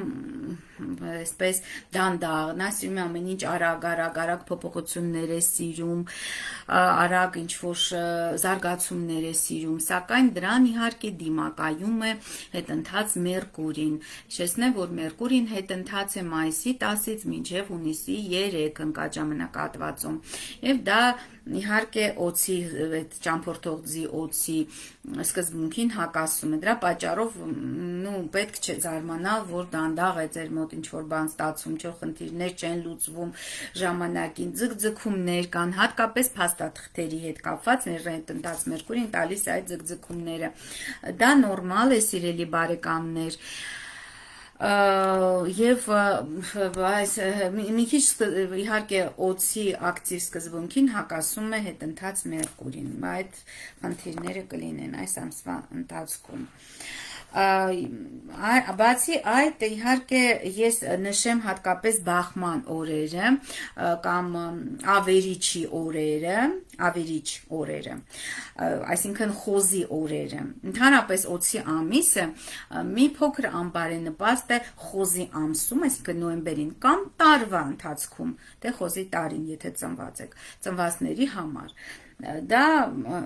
այսպես դանդաղ, նա սիրում է ամեն ինչ արագ փոփոխություններ է սիրում, արագ ինչ որ զարգացումներ է սիրում, սակայն դրան իհարկե դիմակայում է հետընթաց Մերկուրին։ Հիշեցնեմ, որ Մերկուրին հետընթաց է մայիսի 10-ից մինչև հունիսի 3 ընկաջամանակահատվածում, եւ դա իհարկե օծի այդ ճամփորդող ձի օծի սկզբունքին հակասում է, դրա պատճառով պետք չէ զարմանալ, որ դանդաղ է ձեր մոտ ինչ որ բան ստացվում, չէ՞ խնդիրներ չեն լուծվում ժամանակին, ձգձգումներ կան, հատկապես փաստաթղթերի հետ կապված ներընտած Մերկուրին տալիս է այդ ձգձգումները, դա նորմալ է սիրելի բարեկամներ, եւ այս մի քիչ իհարկե օծի ակտիվ սկզբունքին հակասում է հետընթաց Մերկուրին, այդ խնդիրները կլինեն այս ամսվա ընթացքում։ Բացի այդ իհարկե ես նշեմ հատկապես բախման օրերը կամ ավերիչի օրերը, այսինքն խոզի օրերը, ընդհանրապես օծի ամիսը մի փոքր անբարենպաստ է խոզի ամսում, այսինքն նոյեմբերին կամ տարվա ընթացքում, դե խոզի տարին, եթե ծնված եք, ծնվածների համար, դա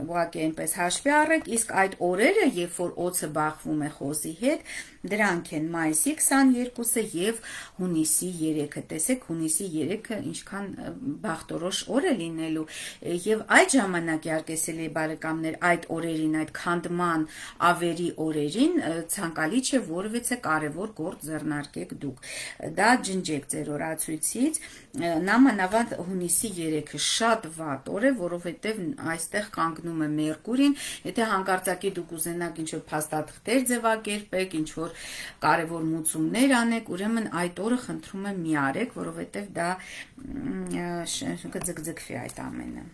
ուղղակի այնպես հաշվի առեք, իսկ այդ օրերը, երբ որ օծը բախվում է խոզի հետ, դրանք են մայիսի 22-ը եւ հունիսի 3-ը, տեսեք հունիսի 3-ը ինչքան բախտորոշ օր է լինելու, եւ այդ ժամանակ իհարկե բարեկամներ այդ օրերին, այդ քանդման ավերի օրերին ցանկալի չէ որևէ կարևոր գործ ձեռնարկեք դուք, դա ջնջեք ձեր օրացույցից, նամանավանդ հունիսի 3-ը շատ վատ օր է, որովհետեւ այստեղ կանգնում է Մերկուրին, եթե հանկարծակի դուք ուզենաք ինչ-որ փաստաթղթեր ձևակերպեք, ինչ-որ կարևոր մուծումներ անեք, ուրեմն այդ օրը խնդրում եմ մի արեք, որովհետև դա կձգձգվի այդ ամենը։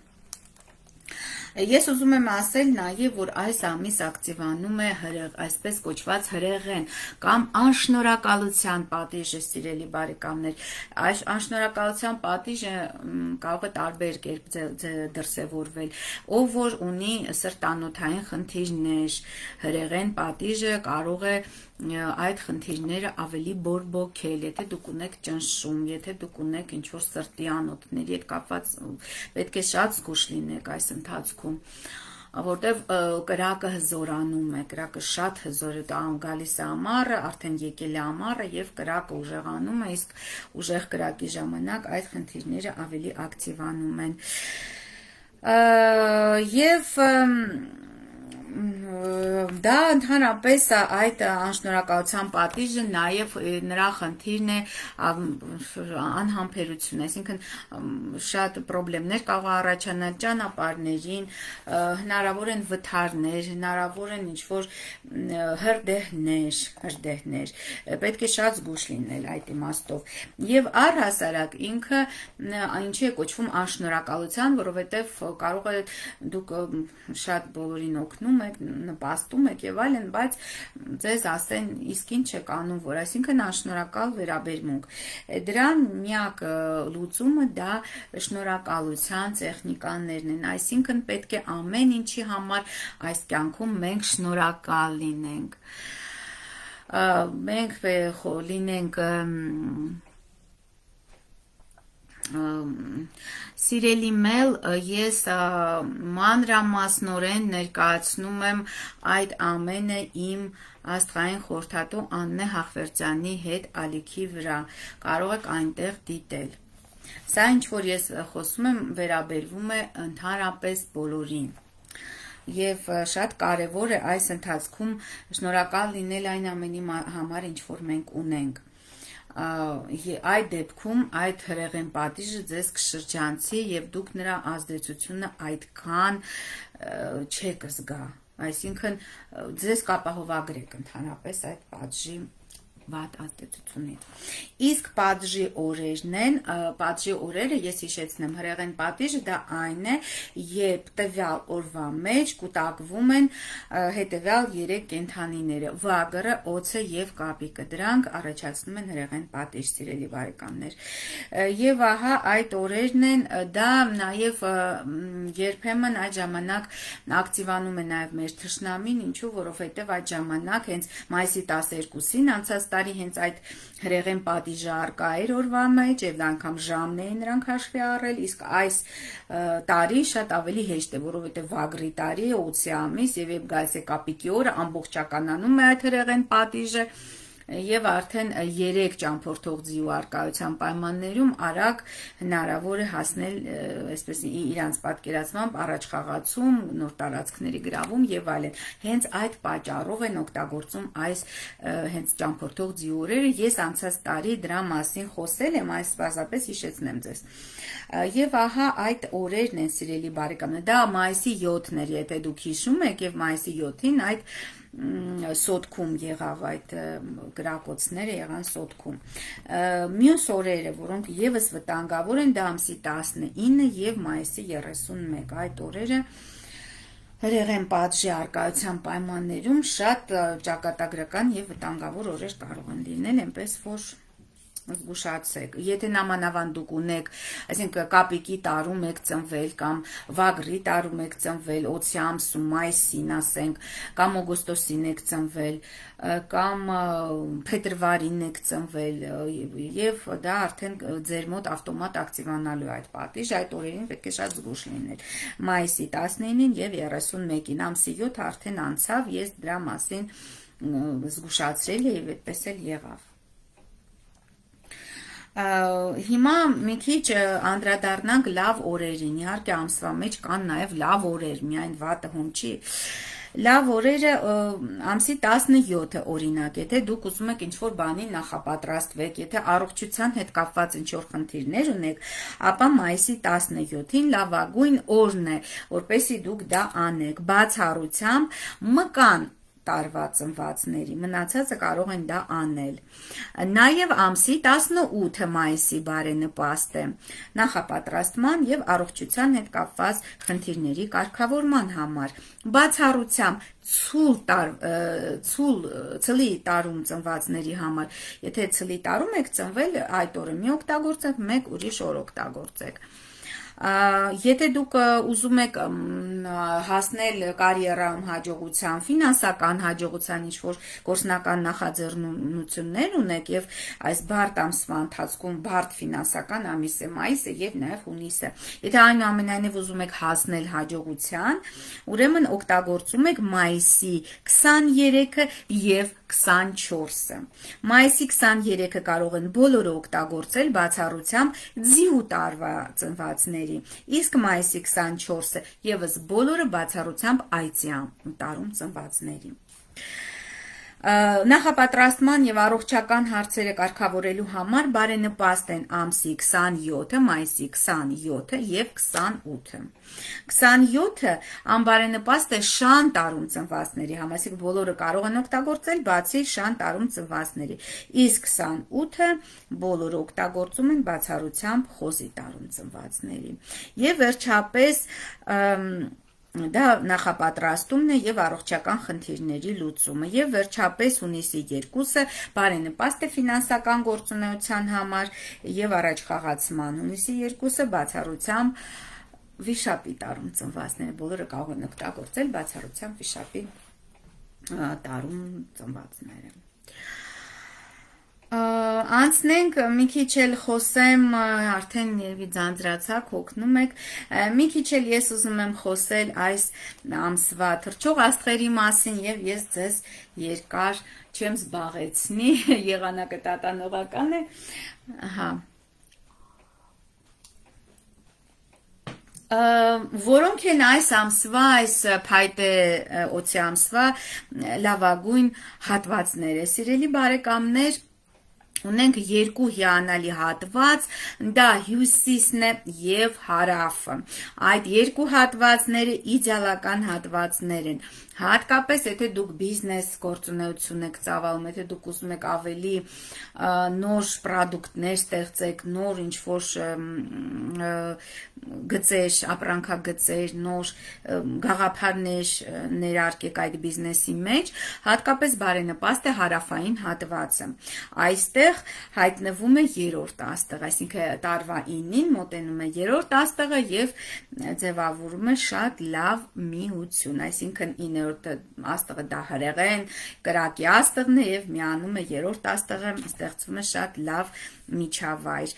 Ես ուզում եմ ասել նաև, որ այս ամիս ակտիվանում է այսպես կոչված հրեղեն կամ անշնորհակալության պատիժը, սիրելի բարեկամներ, այս անշնորհակալության պատիժը կարող է տարբեր կերպ դրսևորվել, ով որ ունի սրտանոթային խնդիրներ, հրեղեն պատիժը կարող է այդ խնդիրները ավելի բորբոքել, եթե դուք ունեք ճնշում, եթե դուք ունեք ինչ-որ սրտի անոթների հետ կապված, պետք է շատ զգուշ լինեք այս ընթացքում, որտև կրակը հզորանում է, կրակը շատ հզոր է, գալիս է ամառը, արդեն եկել է ամառը եւ կրակը ուժեղանում է, իսկ ուժեղ կրակի ժամանակ այդ խնդիրները ավելի ակտիվանում են։ Եվ դա ընդհանրապես այդ անշնորհակալության պատիժը նաև նրա խնդիրն է անհամբերություն, այսինքն շատ խնդիրներ կարող է առաջանալ ճանապարհներին, հնարավոր են վթարներ, հնարավոր են ինչ-որ հրդեհներ, պետք է շատ զգուշ լինել այդ իմաստով։ Եվ առհասարակ ինքը ինչի է կոչվում անշնորհակալության, որովհետև կարող է դուք շատ բոլորին օգնում նպաստում եք եւ այլն, բայց ձեզ ասեն իսկ ինչ եք անում, որ այսինքն անշնորհակալ վերաբերմունք։ Դրան միակ լուծումը դա շնորհակալության տեխնիկաներն են, այսինքն պետք է ամեն ինչի համար այս կյանքում մենք շնորհակալ լինենք։ Մենք լինենք Սիրելի Մել, ես մանրամասնորեն ներկայացնում եմ այդ ամենը իմ աստղային խորհրդատու Աննե Հախվերդյանի հետ ալիքի վրա, կարող եք այնտեղ դիտել։ Սա ինչ որ ես խոսում եմ վերաբերվում է ընդհանրապես բոլորին։ Եվ շատ կարևոր է այս ընթացքում շնորհակալ լինել այն ամենի համար, ինչ որ մենք ունենք։ Այդ դեպքում այդ հրեղեն պատիժը ձեզ կշրջանցի եւ դուք նրա ազդեցությունը այդքան չեք զգա, այսինքն ձեզ կապահովագրեք ընդհանրապես այդ պատժի վատ ազդեցությունից։ Իսկ պատժի օրերն են, պատժի օրերը, ես հիշեցնեմ, հրեղեն պատիժը դա այն է, երբ տվյալ օրվա մեջ կուտակվում են հետևյալ 3 կենդանիները՝ վագրը, օձը եւ կապիկը։ Դրանք առաջացնում են հրեղեն պատիժ, սիրելի բարեկամներ։ Եվ ահա այդ օրերն են, դա նաեւ երբեմն այդ ժամանակ ակտիվանում է նաեւ մեր թշնամին, ինչու, որովհետեւ այդ ժամանակ հենց մայիսի 12-ին անցած տարի հենց այդ հրեղեն պատիժը արկա էր օրվա մեջ եւ անգամ ժամն էին նրանք հաշվի առել, իսկ այս տարի շատ ավելի հեշտ է, որովհետեւ վագրի տարի է, օձի ամիս եւ երբ գալիս է կապիկի օրը, ամբողջականանում է այդ հրեղեն պատիժը եւ արդեն 3 ճամփորդող ձիու արկայության պայմաններում արագ հնարավոր է հասնել այսպես իրանց պատկերացմամբ առաջխաղացում, նոր տարածքների գրավում եւ այլն։ Հենց այդ պատճառով են օգտագործում այս հենց ճամփորդող ձիու օրերը։ Ես անցած տարի դրա մասին խոսել եմ, այս պարզապես հիշեցնեմ ձեզ։ Եվ ահա այդ օրերն են, սիրելի բարեկամներ, դա մայիսի 7-ն էր, եթե դուք հիշում եք, եւ մայիսի 7-ին այդ սոտքում եղավ այդ գրակոծները եղան սոտքում։ Մյուս օրերը, որոնք եւս վտանգավոր են, դա ամսի 19 եւ մայիսի 31, այդ օրերը հրեղեն պատժի արկայության պայմաններում շատ ճակատագրական եւ վտանգավոր օրեր կարող են լինել, այնպես որ զգուշացեք։ Եթե նամանավան դուք ունեք, այսինքն կապիկի տարում եք ծնվել կամ վագրի տարում եք ծնվել, օձի ամսում, մայիսին ասենք, կամ օգոստոսին եք ծնվել, կամ փետրվարին եք ծնվել, եւ դա արդեն ձեր մոտ ավտոմատ ակտիվանալու է այդ պատիժը, այդ օրերին պետք է շատ զգուշ լինել։ Մայիսի 19-ին եւ 31-ին, ամսի 7 արդեն անցավ, ես դրա մասին զգուշացրել եւ այդպես էլ եղավ։ Հիմա մի քիչ անդրադառնանք լավ օրերին, իհարկե ամսվա մեջ կան նաև լավ օրեր, միայն վատը հում չի։ Լավ օրերը ամսի 17-ը օրինակ, եթե դուք ուզում եք ինչ-որ բանի նախապատրաստվեք, եթե առողջության հետ կապված ինչ-որ խնդիրներ ունեք, ապա մայիսի 17-ին լավագույն օրն է, որպեսզի դուք դա անեք, բացառությամբ մկան տարվա ծնվածների, մնացածը կարող են դա անել։ Նաև ամսի 18-ը մայիսի բարենպաստ է նախապատրաստման եւ առողջության հետ կապված խնդիրների կարգավորման համար։ Բացառությամբ ցուլի տարում ծնվածների համար, եթե ցլի տարում եք ծնվել, այդ օրը մի օգտագործեք, մեկ ուրիշ օր օգտագործեք։ Եթե դուք ուզում եք հասնել կարիերայում հաջողության, ֆինանսական հաջողության, ինչ-որ գործնական նախաձեռնություններ ունեք եւ այս բարդ ամսվա ընթացքում բարդ ֆինանսական ամիս է մայիսը եւ նաեւ հունիսը, եթե այնուամենայնիվ ուզում եք հասնել հաջողության, ուրեմն օգտագործում եք մայիսի 23-ը եւ 24-ը։ Մայիսի 23-ը կարող են բոլորը օգտագործել բացառությամբ ձիու տարվա ծնվածների, իսկ մայիսի 24-ը եւս բոլորը բացառությամբ այծյա տարում ծնվածների։ Նախապատրաստման եւ առողջական հարցերը կարգավորելու համար բարենպաստ են ամսի 27-ը, մայիսի 27-ը եւ 28-ը։ 27-ը անբարենպաստ է շան տարում ծնվածների համար, այսինքն բոլորը կարող են օգտագործել, բացի շան տարում ծնվածների, իսկ 28-ը բոլորը օգտագործում են բացառությամբ խոզի տարում ծնվածների։ Եվ վերջապես դա նախապատրաստումն է եւ առողջական խնդիրների լուծումը, եւ վերջապես հունիսի 2-ը բարենպաստ է ֆինանսական գործունեության համար եւ առաջխաղացման, հունիսի 2-ը բացառությամբ վիշապի տարում ծնվածները, բոլորը կարող են օգտագործել բացառությամբ վիշապի տարում ծնվածները։ Անցնենք մի քիչ էլ խոսեմ, արդեն երևի ձանձրացաք, հոգնում եք, մի քիչ էլ ես ուզում եմ խոսել այս ամսվա թռչող աստղերի մասին եւ ես ձեզ երկար չեմ զբաղեցնի, եղանակը տատանողական է, ահա։ Որոնք են այս ամսվա, այս փայտե օծի ամսվա լավագույն հատվածները, սիրելի բարեկամներ, Ունենք երկու հիանալի հատված, դա հյուսիսն է և հարավը։ Այդ երկու հատվածները իդեալական հատվածներ են։ Հատկապես, եթե դուք բիզնես գործունեություն եք ծավալում, եթե դուք ուզում եք ավելի նոր պրոդուկտներ ստեղծեք, նոր ինչ-որ գծեր, ապրանքագծեր, նոր գաղափարներ ներարկեք այդ բիզնեսի մեջ, հատկապես բարենպաստ է հարավային հատվածը։ Այստեղ հայտնվում է երրորդ աստղը, այսինքն տարվա 9-ին մոտենում է երրորդ աստղը եւ ձևավորում է շատ լավ միություն, այսինքն 9-րդ աստղը դա հրեղեն, կրակի աստղն է եւ միանում է երրորդ աստղը, ստեղծվում է շատ լավ միջավայր,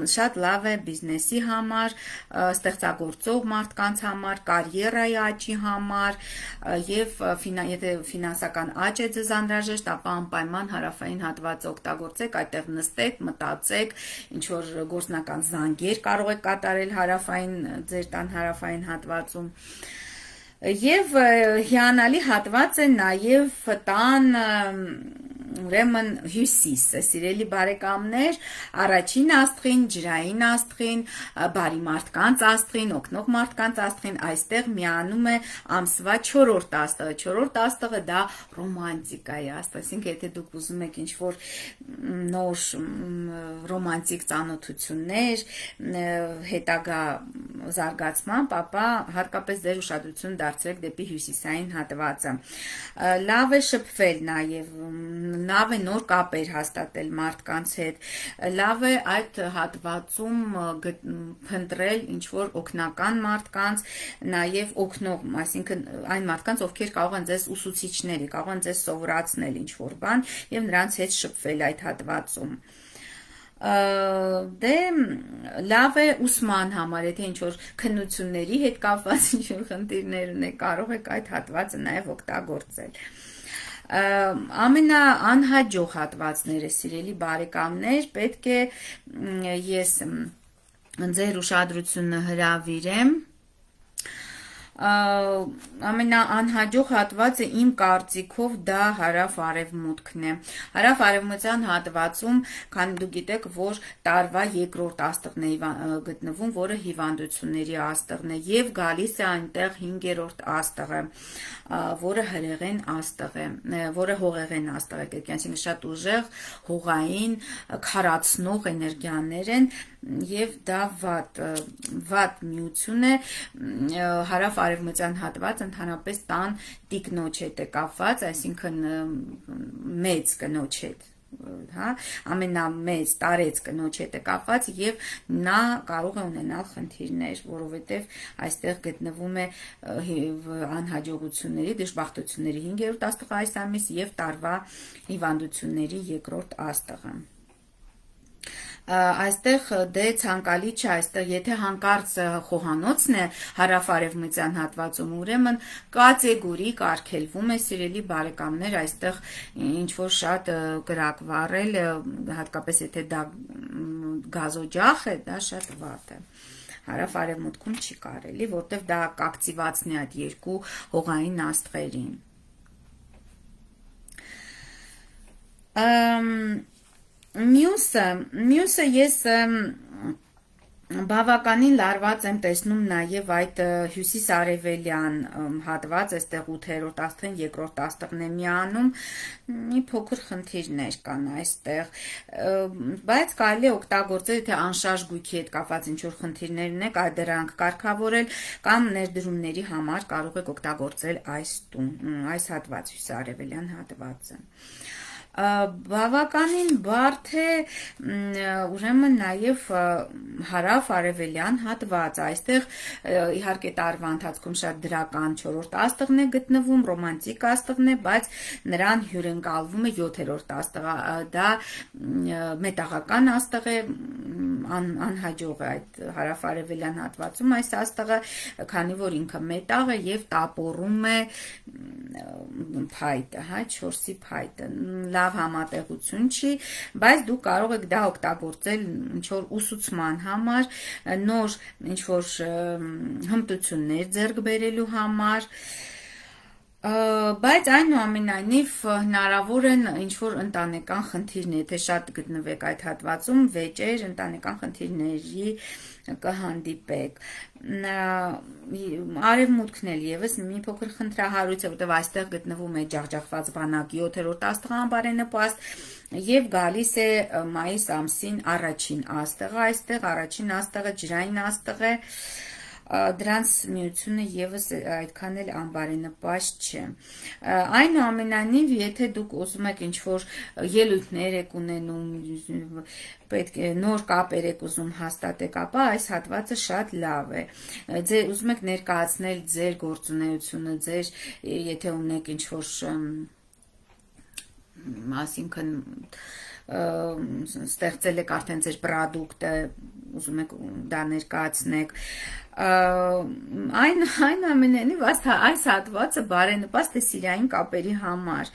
շատ լավ է բիզնեսի համար, ստեղծագործող մարդկանց համար, կարիերայի աճի համար եւ եթե ֆինանսական աճ է ձեզ անհրաժեշտ, ապա անպայման հարավային հատվածը օգտագործեք, այդտեղ նստեք, մտածեք, ինչ որ գործնական զանգեր կարող եք կատարել ձեր տան հարավային հատվածում։ Եվ հիանալի հատված է նաև տան ուրեմն հյուսիսը, սիրելի բարեկամներ, առաջին աստղին, ջրային աստղին, բարի մարդկանց աստղին, օգնող մարդկանց աստղին, այստեղ միանում է ամսվա 4-րդ աստղը։ 4-րդ աստղը դա ռոմանտիկայի աստղ, այսինքն եթե դուք ուզում եք ինչ-որ նոր ռոմանտիկ ծանոթություններ, հետագա զարգացման, ապա հատկապես ձեր ուշադրություն դարձրեք դեպի հյուսիսային հատվածը։ Լավ է շփվել նաև, լավ է նոր կապեր հաստատել մարդկանց հետ, լավ է այդ հատվածում փնտրել ինչ-որ օգնական մարդկանց, նաև օգնող, այսինքն այն մարդկանց, ովքեր կարող են ձեզ ուսուցիչների, կարող են ձեզ սովորացնել ինչ-որ բան եւ նրանց հետ շփվել այդ հատվածում։ Դե լավ է ուսման համար, եթե ինչ-որ քննությունների հետ կապված ինչ-որ խնդիրներ ունեք, կարող եք այդ հատվածը նաև օգտագործել։ Ամենաանհաջող հատվածները, սիրելի բարեկամներ, պետք է ես ձեր ուշադրությունը հրավիրեմ ամենաանհաջող հատվածը իմ կարծիքով դա հարավ-արևմուտքն է։ Հարավ-արևմտյան հատվածում, քանի դուք գիտեք, որ տարվա երկրորդ աստղն է գտնվում, որը հիվանդությունների աստղն է, եւ գալիս է այնտեղ 5-րդ աստղը, որը հրեղեն աստղ է, որը հողեղեն աստղ է, այսինքն շատ ուժեղ, հողային, քարացնող էներգիաներ են, եւ դա վատ միություն է, հարավ-արևմտյան հատված ընդհանրապես տան տիկնոջ հետ է կապված, այսինքն մեծ կնոջ հետ, ամենամեծ տարեց կնոջ հետ է կապված եւ նա կարող է ունենալ խնդիրներ, որովհետեւ այստեղ գտնվում է անհաջողությունների, դժբախտությունների 5-րդ աստղը այս ամիս եւ տարվա հիվանդությունների 2-րդ աստղը։ Այստեղ դե ցանկալի չէ, այստեղ եթե հանկարծ խոհանոցն է հարավ-արևմտյան հատվածում, ուրեմն կատեգորիկ արգելվում է, սիրելի բարեկամներ, այստեղ ինչ որ շատ կրակ վառել, հատկապես եթե դա գազօջախ է, դա շատ վատ է։ Հարավ-արևմուտքում չի կարելի, որտեղ դա կակտիվացնի այդ երկու հողային աստղերին։ Մյուսը ես բավականին լարված եմ տեսնում նաև այդ հյուսիս-արևելյան հատված, այստեղ 8-րդ աստղին, 2-րդ աստղն է միանում, մի փոքր խնդիրներ կան այստեղ, բայց կարելի է օգտագործել, եթե անշարժ գույքի հետ կապված ինչ-որ խնդիրներ ունեք, դրանք կարգավորել կամ ներդրումների համար կարող եք օգտագործել այս հատված, հյուսիս-արևելյան հատվածը։ Բավականին բարդ է ուրեմն նաև հարավ-արևելյան հատված, այստեղ իհարկե տարվա ընթացքում շատ դրական 4-րդ աստղն է գտնվում, ռոմանտիկ աստղն է, բայց նրան հյուրընկալվում է 7-րդ աստղը, դա մետաղական աստղ է, անհաջող է այդ հարավ-արևելյան հատվածում այս աստղը, քանի որ ինքը մետաղ է եւ տապորում է փայտը, 4-ի փայտը, լավ համատեղություն չի, բայց դուք կարող եք դա օգտագործել ինչ-որ ուսուցման համար, նոր ինչ-որ հմտություններ ձեռք բերելու համար, Բայց այնուամենայնիվ հնարավոր են ինչ-որ ընտանեկան խնդիրներ, եթե շատ գտնվեք այդ հատվածում, վեճեր, ընտանեկան խնդիրների կհանդիպեք։ Արևմուտքն էլ եւս մի փոքր խնդրահարույց է, որտեղ այստեղ գտնվում է ջախջախված բանակ 7-րդ աստղը անբարենպաստ եւ գալիս է մայիս ամսին առաջին աստղը, այստեղ առաջին աստղը ջրային աստղ է, դրանց միությունը եւս այդքան էլ անբարենպաստ չէ։ Այնուամենայնիվ, եթե դուք ուզում եք ինչ-որ ելույթներ եք ունենում, պետք է նոր կապեր եք ուզում հաստատեք, ապա այս հատվածը շատ լավ է։ Ձեր ուզում եք ներկայացնել ձեր գործունեությունը, ձեր եթե ունեք ինչ-որ այսինքն ստեղծել եք արդեն ձեր պրոդուկտը, ուզում եք դա ներկայացնեք, այնուամենայնիվ այս հատվածը բարենպաստ է սիրային կապերի համար։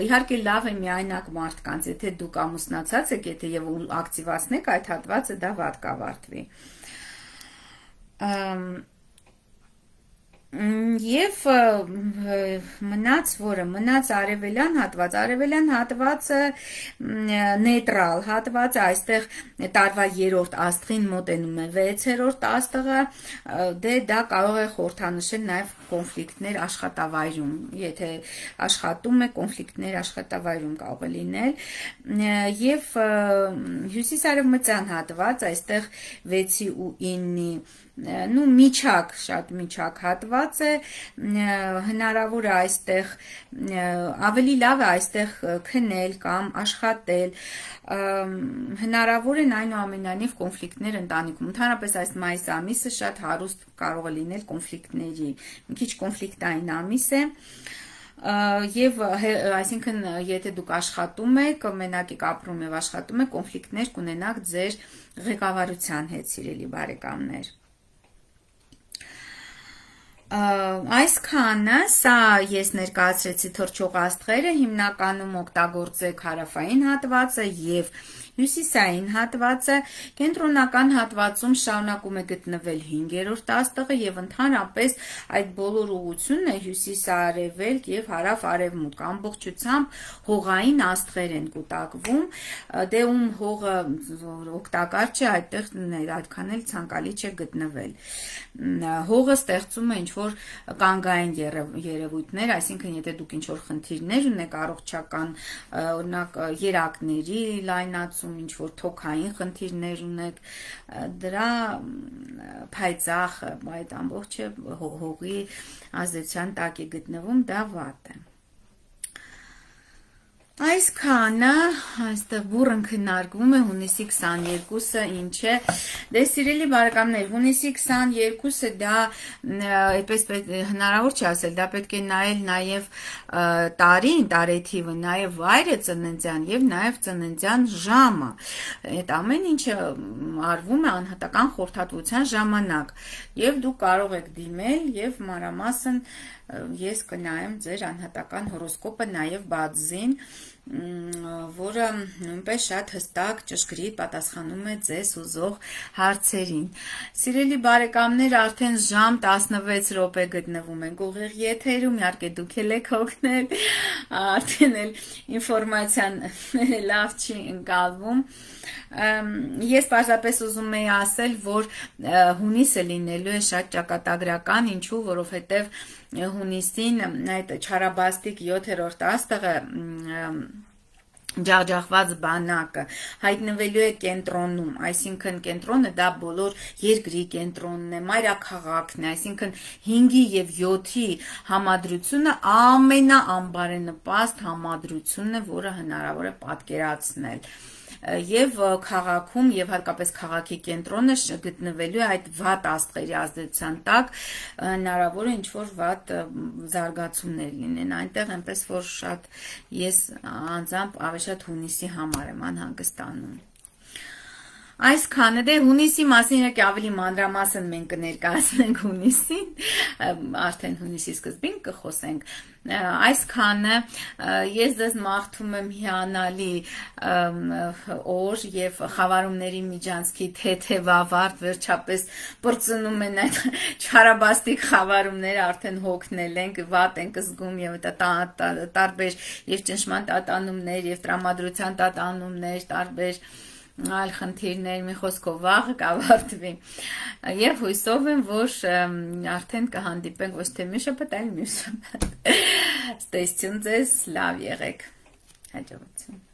Իհարկե լավ է միայնակ մարդկանց, եթե դուք ամուսնացած եք, եթե եւ ակտիվացնեք այդ հատվածը, դա վատ կավարտվի։ Եվ մնաց որը, մնաց արևելյան հատվածը նեյտրալ հատվածը, այստեղ տարվա 3-րդ աստղին մոտենում է 6-րդ աստղը, դե դա կարող է խորհրդանշել նաև կոնֆլիկտներ աշխատավայրում, եթե աշխատում է կոնֆլիկտներ աշխատավայրում կարող է լինել, եւ հյուսիսարևմտյան հատված, այստեղ 6-ի ու 9-ի միջակ, շատ միջակ հատված է, հնարավոր է այստեղ ավելի լավ է այստեղ քնել կամ աշխատել, հնարավոր են այնուամենայնիվ կոնֆլիկտներ ընտանիքում, ընդհանրապես այս մայիս ամիսը շատ հարուստ կարող է լինել կոնֆլիկտների, մի քիչ կոնֆլիկտային ամիս է, եւ այսինքն եթե դուք աշխատում եք, մենակ եք ապրում եւ աշխատում եք, կոնֆլիկտներ կունենաք ձեր ղեկավարության հետ, սիրելի բարեկամներ։ Այսքանը, սա ես ներկայացրեցի թռչող աստղերը, հիմնականում օգտագործեք հարավային հատվածը եւ հյուսիսային հատվածը, կենտրոնական հատվածում շարունակում է գտնվել 5-րդ աստղը եւ ընդհանրապես այդ բոլոր ուղղությունն է հյուսիս-արևելք եւ հարավ-արևմուտք, ամբողջությամբ հողային աստղեր են կուտակվում, դե ում հողը օգտակար չէ, այդտեղ այդքան էլ ցանկալի չէ գտնվել։ Հողը ստեղծում է ինչ-որ կանգային երևույթներ, այսինքն եթե դուք ինչ-որ խնդիրներ ունեք առողջական, օրինակ երակների լայնացում, ինչ-որ թոքային խնդիրներ ունեք, դրա փայծախ այդ ամբողջը հողի ազդեցության տակ է գտնվում, դա վատ է։ Այսքանը, այստեղ բուռն քննարկվում է հունիսի 22-ը ինչ է, դե սիրելի բարեկամներ, հունիսի 22-ը դա այդպես հնարավոր չի ասել, դա պետք է նայել նաև տարին, տարեթիվը, նաև վայրը ծննդյան եւ նաև ծննդյան ժամը, այդ ամեն ինչը արվում է անհատական խորհրդատվության ժամանակ եւ դուք կարող եք դիմել եւ մանրամասն ես կնայեմ ձեր անհատական հորոսկոպը նաև բացին, որը նույնպես շատ հստակ ճշգրիտ պատասխանում է ձեզ ուզող հարցերին։ Սիրելի բարեկամներ, արդեն ժամ 16 րոպե գտնվում ենք ուղիղ եթերում, իհարկե դուք էլ եք օգնել, արդեն էլ ինֆորմացիան լավ չի ընկալվում։ Ես պարզապես ուզում եի ասել, որ հունիսը լինելու է շատ ճակատագրական, ինչու, որովհետև հունիսին այդ չարաբաստիկ 7-րդ աստղը ջախջախված բանակը հայտնվելու է կենտրոնում, այսինքն կենտրոնը դա բոլոր երկրի կենտրոնն է, մայրաքաղաքն է, այսինքն 5-ի եւ 7-ի համադրությունը ամենաանբարենպաստ համադրությունն է, որը հնարավոր է պատկերացնել։ Եվ քաղաքում եւ հատկապես քաղաքի կենտրոնը գտնվելու է այդ վատ աստղերի ազդեցության տակ, հնարավոր է ինչ-որ վատ զարգացումներ լինեն այնտեղ, այնպես որ շատ ես անձամբ ավելի շատ հունիսի համար եմ անհանգստանում։ Այսքանը դե հունիսի մասին իրոք ավելի մանրամասն մենք կներկայացնենք հունիսին, արդեն հունիսի սկզբին կխոսենք։ Այսքանը ես ձեզ մաղթում եմ հիանալի օր եւ խավարումների միջանցքի թեթև ավարտ, վերջապես բրծնում են այդ չարաբաստիկ խավարումները, արդեն հոգնել ենք, վատ ենք զգում եւ տարբեր եւ ճնշման տատանումներ եւ տրամադրության տատանումներ, տարբեր այլ խնդիրներ, մի խոսքով վաղը կավարտվի եւ հույսով եմ, որ արդեն կհանդիպենք ոչ թե մի շաբաթ, այլ մյուս շաբաթ։ Ստեսություն ձեզ, լավ եղեք, հաջողություն։